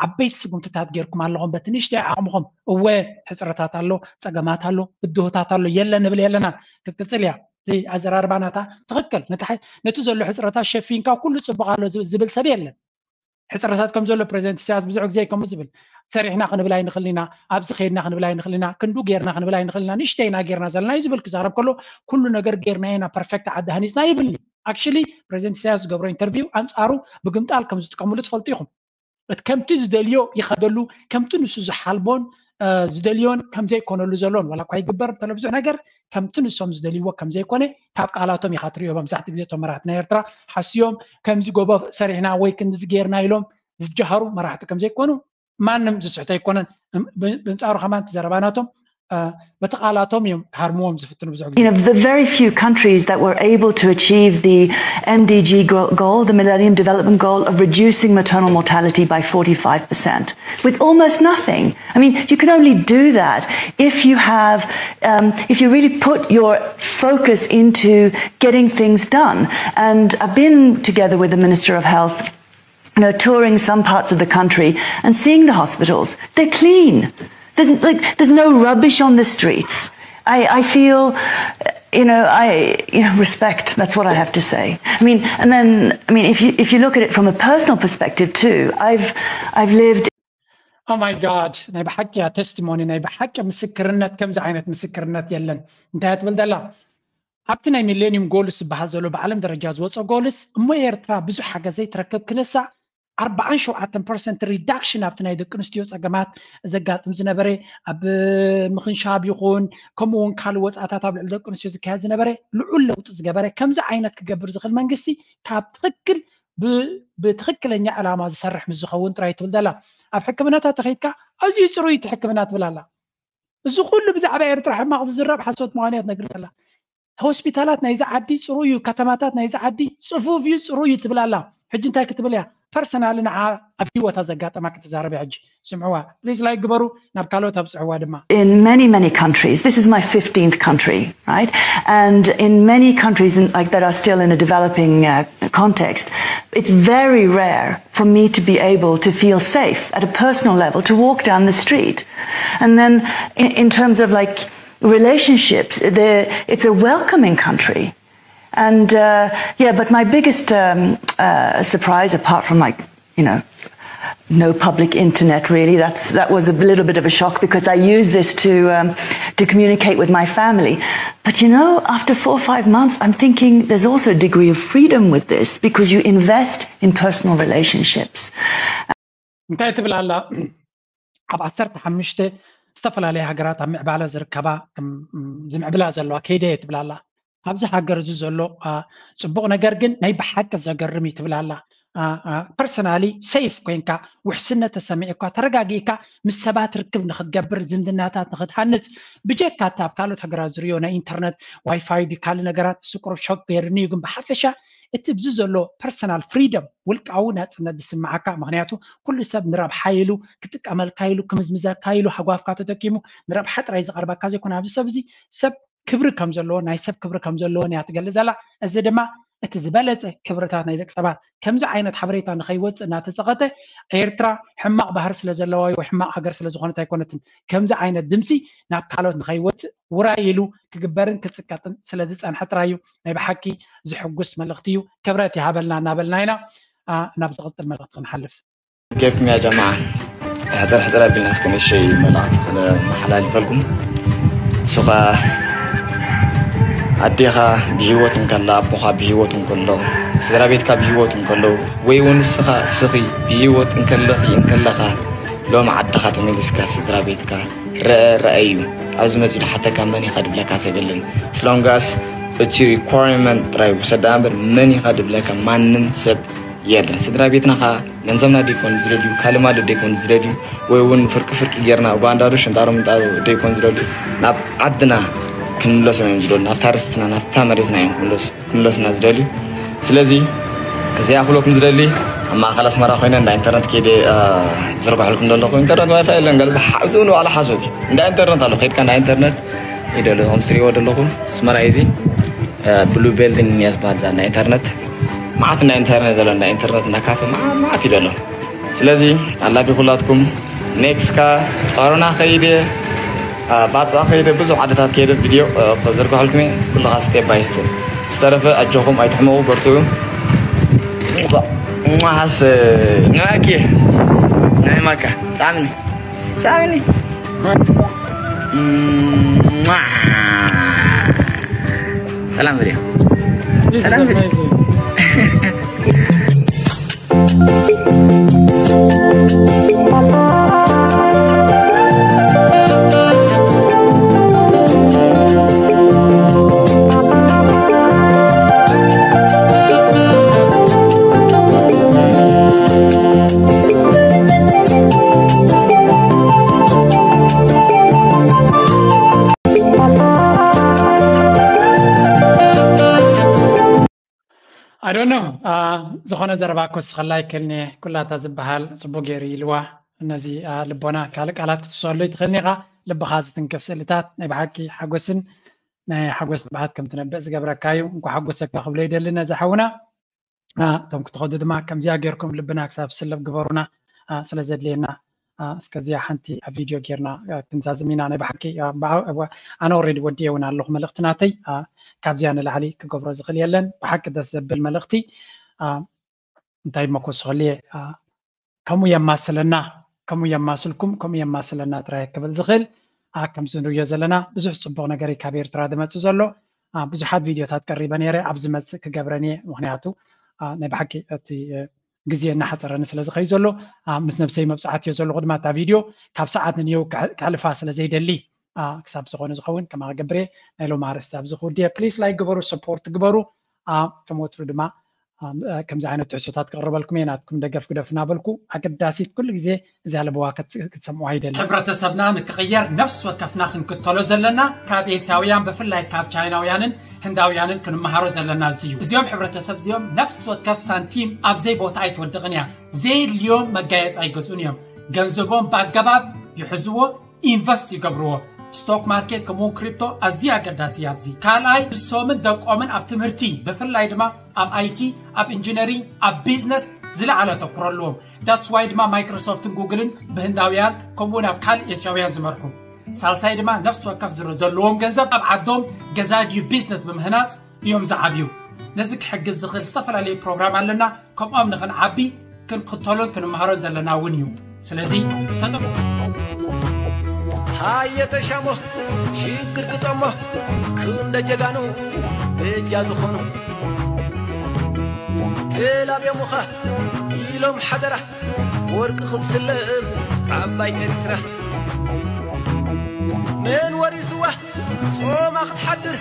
ዓበይቲ ስጉምትታት ጌርኩም ኣለኹም በቲ ንእሽተይ ዓቕምኹም። እወ፣ ሕጽረታት ኣሎ፣ ጸገማት ኣሎ፣ ብድሆታት ኣሎ፣ የለ ንብል የለና። ክትቅጽል እያ። እዚ ኣዘራርባ ናታ ትኽክል። ነቲ ዘሎ ሕጽረታት ሸፊንካ ኩሉ ጽቡቕ ኣሎ ዝብል ሰብ የለን። ሕፅረታት ከም ዘሎ ፕሬዚደንት ኢሳያስ ብዙሕ ግዜ ከምኡ ዝብል፣ ሰሪሕና ክንብል ኣይንኽእል ኢና፣ ኣብዚ ከይድና ክንብል ኣይንኽእል ኢና፣ ክንዱ ጌርና ክንብል ኣይንኽእል ኢና፣ ንእሽተይ ኢና ጌርና ዘለና እዩ ዝብል ክዛረብ ከሎ፣ ኩሉ ነገር ጌርና ኢና፣ ፐርፌክት ዓዲ ሃኒፅና ይብል። ኣክሽሊ ፕሬዚደንት ኢሳያስ ዝገብሮ ኢንተርቪው ኣንፃሩ ብግምጣል ከም ዝጥቀምሉ ትፈልጡ ኢኹም። እቲ ከምቲ ዝደልዮ ይኸደሉ፣ ከምቲ ንሱ ዝሓልቦን ዝደልዮን ከም ዘይኮነሉ ዘሎን ዋላ እኳ ይግበር እንተሎ ብዙሕ ነገር ከምቲ ንሶም ዝደልይዎ ከም ዘይኮነ ካብ ቃላቶም ኢኻ ትሪኦ። መብዛሕትኡ ግዜ እቶም መራሕቲ ናይ ኤርትራ ሓስዮም ከምዚ ጎቦ ሰሪሕና ወይ ክንዚ ጌርና ኢሎም ዝጀሃሩ መራሕቲ ከም ዘይኮኑ ማንም ዝስሕቶ ኣይኮነን። ብንጻሩ ከማን እቲ ዘረባ ናቶም በቲ ቃላቶም እዮም ክሃርምዎም ዝፍትኑ ብዙሕ ግዜ። You know, the very few countries that were able to achieve the M D G goal, the Millennium Development Goal of reducing maternal mortality by forty-five percent with almost nothing. I mean, you can only do that if you have, um, if you really put your focus into getting things done. And I've been together with the Minister of Health, you know, touring some parts of the country and seeing the hospitals. They're clean. There's like there's no rubbish on the streets. I, I feel, you know, I you know respect. That's what I have to say. I mean, and then I mean, if you if you look at it from a personal perspective too, I've I've lived Oh my God፣ ናይ ብሓቂ እያ ተስቲሞኒ፣ ናይ ብሓቂ ምስክርነት፣ ከምዚ ዓይነት ምስክርነት የለን። እንታይ ትብል ዘላ? ኣብቲ ናይ ሚሌኒየም ጎልስ ዝበሃል ዘሎ ብዓለም ደረጃ ዝወፀ ጎልስ እሞ ኤርትራ ብዙሕ ሓገዝ ዘይትረክብ ክንሳ ኣርባዓን ሸውዓተን ፐርሰንት ሪዳክሽን ኣብቲ ናይ ደቂ ኣንስትዮ ፀገማት ዘጋጥም ዝነበረ ኣብ ምኽንሻብ ይኹን ከምኡ እውን ካልእ ወፃእታት ኣብ ልዕሊ ደቂ ኣንስትዮ ዝካየድ ዝነበረ ልዑል ለውጢ ዝገበረ ከምዚ ዓይነት ክገብር ዝኽእል መንግስቲ ካብ ትኽክል ብትኽክለኛ ዕላማ ዝሰርሕ ምስ ዝኸውን ጥራይ ትብል ዘላ። ኣብ ሕክምናታት ተኸይድካ ኣዝዩ ፅሩይ እቲ ሕክምና ትብል ኣላ። እዚ ኩሉ ብዛዕባ ኤርትራ ሕማቕ ዝዝረብ ሓሶት ምዃኑ እያ ትነግር ዘላ። ሆስፒታላት ናይዚ ዓዲ ፅሩይ እዩ፣ ከተማታት ናይዚ ዓዲ ፅፉፍ እዩ፣ ፅሩይ እዩ ትብል ኣላ። ሕጂ እንታይ ክትብል እያ? ፐርሰናሊ ንዓ ኣብ ህይወታ ዘጋጠማ ክትዛረብ እያ። ሕጂ ስምዕዋ ፕሊዝ፣ ላይክ ግበሩ፣ ናብ ካልኦት ኣብፅዕዋ ድማ። In many, many countries, this is my fifteenth country, right? And in many countries in, like that are still in a developing uh, context, it's very rare for me to be able to feel safe at a personal level to walk down the street. And then in, in terms of like relationships, it's a welcoming country. And uh, yeah, but my biggest um, uh, surprise, apart from like, you know, no public internet really. That's that was a little bit of a shock because I use this to um, to communicate with my family. But you know, after four or five months, I'm thinking there's also a degree of freedom with this because you invest in personal relationships. እንታይ ትብል ኣላ? ኣብ ዓሰርተ ሓሙሽተ ዝተፈላለያ ሃገራት ኣብ ምዕባለ ዝርከባ ዝምዕብላ ዘለዋ ከይደ ትብል ኣላ። ኣብዚ ሃገር እዚ ዘሎ ፅቡቕ ነገር ግን ናይ ብሓቂ ዘገርም እዩ ትብል ኣላ። ፐርሰናሊ ሴፍ ኮይንካ ውሕስነት ተሰሚዕካ ተረጋጊእካ ምስ ሰባት ርክብ ንክትገብር ዝምድናታት ንክትሃንፅ ብጀካ እቲ ኣብ ካልኦት ሃገራት ዝሪኦ ናይ ኢንተርነት ዋይፋይ ድዩ ካልእ ነገራት ስቁር ሾክ ገይርኒ እዩ ግን ብሓፈሻ እቲ ብዚ ዘሎ ፐርሰናል ፍሪደም፣ ውልቃዊ ናፅነት ዝስምዓካ። ምክንያቱ ኩሉ ሰብ ንረብሓ ኢሉ ክጥቀመልካ ኢሉ ክምዝምዘካ ኢሉ ሃጓፍካ ተጠቂሙ ንረብሓ ጥራይ ዝቐርበካ ዘይኮነ ኣብዚ ሰብ እዚ ሰብ ክብሪ ከም ዘለዎ፣ ናይ ሰብ ክብሪ ከም ዘለዎን እያ ትገልጽ ዘላ። እዚ ድማ እቲ ዝበለጸ ክብርታት ናይ ደቂ ሰባት። ከምዚ ዓይነት ሓበሬታ ንኸይወፅእ እናተፀቐጠ ኤርትራ ሕማቕ ባህሪ ስለ ዘለዋ ወይ ሕማቕ ሃገር ስለ ዝኾነት ኣይኮነትን። ከምዚ ዓይነት ድምፂ ናብ ካልኦት ንኸይወፅእ ውራይ ኢሉ ክግበርን ክፅቀጥን ስለ ዝፀንሐ ጥራይ እዩ። ናይ ብሓቂ ዝሕጉስ መልእኽቲ እዩ። ክብረት ይሃበልና እናበልና ኢና ናብ ዝቕፅል መልእኽቲ ክንሓልፍ። ኬፍኩም ያ ጀማዓ። ሕፅር ሕፅር ኣቢልና እስከ ነሸይ መልእኽቲ ክመሓላልፈልኩም። እሱ ኸዓ ኣዴኻ ብህይወት እንከላ፣ ኣቦኻ ብህይወት እንከሎ፣ ስድራ ቤትካ ብህይወት እንከለዉ፣ ወይ እውን ንስኻ እስኺ ብህይወት እንከለኺ እንከለኻ፣ ሎም ዓድኻ ተመሊስካ ስድራ ቤትካ ረአ ረአዩ ኣብዚ መፂኡ ሓተካ መን ኢኻ ድብለካ ሰብ የለን። ስለንጋስ እቲ ሪኳርመንት ጥራይ ውሰዳ እምበር መን ኢኻ ድብለካ ማንም ሰብ የለን። ስድራ ቤትና ኸዓ ገንዘብና ደይኮን ዝደልዩ፣ ካልእ ማለት ደይኮን ዝደልዩ፣ ወይ እውን ፍርቂ ፍርቂ ጌርና ጓንዳዶ ሽንጣሮ ምንጣሮ ደይኮን ዝደልዩ፣ ናብ ዓድና ክንምለሶም እዮም ዝደልዩ፣ ናብታ ርስትና ናብታ መሬትና እዮም ክምለሱ ክምለሱና ዝደልዩ። ስለዚ እዚኣ ክብለኩም ዝደሊ ኣብ ማእኸል ኣስመራ ኮይነ እንዳ ኢንተርነት ከይደ ዝርባሕልኩም ዘለኹ ኢንተርነት ዋይፋይ የለን ገለ ሓብዚ ንባዕሉ ሓሶት እዩ። እንዳ ኢንተርነት ኣሎ ከይድካ እንዳ ኢንተርነት ይደሎ ከም ትሪእዎ ዘለኹም ኣስመራ እዩ እዚ ብሉ ቤልዲንግ እያ ዝበሃል እዛ እንዳ ኢንተርነት። መዓት እንዳ ኢንተርነት ዘሎ እንዳ ኢንተርነት እንዳ ካፈ መዓት መዓት እዩ ዘሎ። ስለዚ ኣላፊ ኩላትኩም ኔክስካ ጸሮና ከይደ ባጽዕ ከይደ ብዙሕ ዓድታት ከይደ ቪድዮ ክዝርግሐልኩም እየ። ኩልኻ ስቴፕ ባይ ስቴፕ። ዝተረፈ ኣጆኹም ኣይትሕመቑ በርትዑ። ማሓስ ናኪ ናይ ማካ ሳምኒ ሳምኒ ሰላም ቪድዮ ሰላም ቪድዮ ኣዶኖ ዝኾነ ዘረባ ክወስኸላ ይክእልኒ ኩላታ ዝበሃል ፅቡቅ ገይሩ ኢልዋ። ነዚ ልቦና ካልእ ቃላት ክትውስኸሉ ይትኽእልኒ ኢኻ። ልብኻ ዝትንክፍ ስእልታት ናይ ብሓቂ ሓጎስን ናይ ሓጎስ ትብዓት ከም ትነብዕ ዝገብረካ እዩ። እንኳ ሓጎሰካ ክብሎ ይደሊ ነዚ ሓውና። እቶም ክትኸዱ ድማ ከምዚኣ ጌርኩም ልብና ክሳብ ስልብ ግበሩና ስለ ዘድልየና። እስከዚኣ ሓንቲ ኣብ ቪድዮ ጌርና ክንዛዝም ኢና። ናይ ብሓቂ ኣነ ኦሬዲ ወዲኤ እውን ኣለኹ መልእኽቲ ናተይ። ካብዚኣ ንላዕሊ ክገብሮ ዝኽእል የለን። ብሓቂ ደስ ዘብል መልእኽቲ። እንታይ እሞ ክወስኸሉ እየ። ከምኡ የማስለና፣ ከምኡ የማስልኩም፣ ከምኡ የማስለና ጥራይ ክብል ዝኽእል። ከምዚ ንሪኦ ዘለና ብዙሕ ፅቡቕ ነገር እዩ ካብ ኤርትራ ዝመፅእ ዘሎ። ብዙሓት ቪድዮታት ቀሪበ ነይረ፣ ኣብ ዝመፅእ ክገብረን እየ። ምኽንያቱ ናይ ብሓቂ እቲ ግዜ እናሓፀረኒ ስለ ዝኸይ ዘሎ ምስ ነብሰይ መብፃዕቲ እዮ ዘለኹ ድማ እታ ቪድዮ ካብ ሰዓት ንንየው ክሕልፋ ስለ ዘይደሊ ክሳብ ዝኾነ ዝኸውን ከማ ክገብር እየ። ናይ ሎም ኣርእስቲ ኣብዚ ክውድየ ፕሊስ ላይክ ግበሩ፣ ሰፖርት ግበሩ። ከም ወትሩ ድማ ከምዚ ዓይነት ትሕዝቶታት ክቕርበልኩም እየ። ናትኩም ደገፍ ግደፉ እናበልኩ ኣገዳሲት ኩሉ ግዜ እዚኣ ለበዋ ክትሰምዑ ኣይደልን። ሕብረተሰብና ንክቕየር ነፍሲ ወከፍና ክንክተሎ ዘለና ካብ ኤስያውያን ብፍላይ ካብ ቻይናውያንን ህንዳውያንን ክንመሃሮ ዘለና እዚ እዩ። እዚኦም ሕብረተሰብ እዚኦም ነፍሲ ወከፍ ሳንቲም ኣብዘይ ቦታ ኣይትወድቕን እያ። ዘየድልዮም መጋየፂ ኣይገዝኡን እዮም። ገንዘቦም ብኣገባብ ይሕዝዎ፣ ኢንቨስት ይገብርዎ። ስቶክ ማርኬት ከምኡውን ክሪፕቶ ኣዝዩ ኣገዳሲ እዩ ኣብዚ። ካልኣይ ንሶምን ደቆምን ኣብ ትምህርቲ ብፍላይ ድማ ኣብ ኣይቲ፣ ኣብ ኢንጂነሪንግ፣ ኣብ ቢዝነስ ዝለዓለ ኣተኩሮ ኣለዎም። ዳትስ ዋይ ድማ ማይክሮሶፍትን ጉግልን ብህንዳውያን ከምኡውን ኣብ ካልእ ኤስያውያን ዝመርሑ። ሳልሳይ ድማ ነፍሲ ወከፍ ዝሮ ዘለዎም ገንዘብ ኣብ ዓዶም ገዛ ድዩ ቢዝነስ ብምህናፅ እዮም ዝዓብዩ። ነዚ ክሕግዝ ዝኽእል ዝተፈላለዩ ፕሮግራም ኣለና። ከምኦም ንኽንዓቢ ክንክተሎን ክንመሃሮን ዘለና እውን እዩ። ስለዚ ተጠቅሙ። ሃየ ተሻሞ ሽግር ግጠሞ ክንደ ጀጋኑ በጃ ዝኾኑ ተላብዮሙኻ ኢሎም ሓደራ ወርቂ ክትስለም ዓባይ ኤርትራ መን ወሪስዋ ጾማ ክትሓድር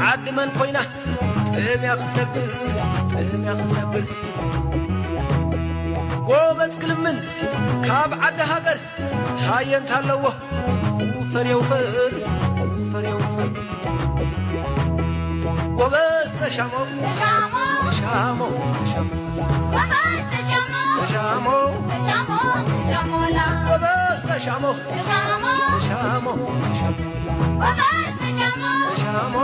ዓዲ መን ኮይና ጥምያ ክትነብር ጥምያ ክትነብር ጎበዝ ክልምን ካብ ዓዲ ሃገር ሃየ እንታለዎ ውፈር የውፈር ውፈር የውፈር ጎበዝ ተሻሞ ሻሞ፣ ሻሞ፣ ሻሞ፣ ሻሞ፣ ሻሞ፣ ሻሞ፣ ሻሞ፣ ሻሞ፣ ሻሞ፣ ሻሞ፣ ሻሞ፣ ሻሞ፣ ሻሞ፣ ሻሞ፣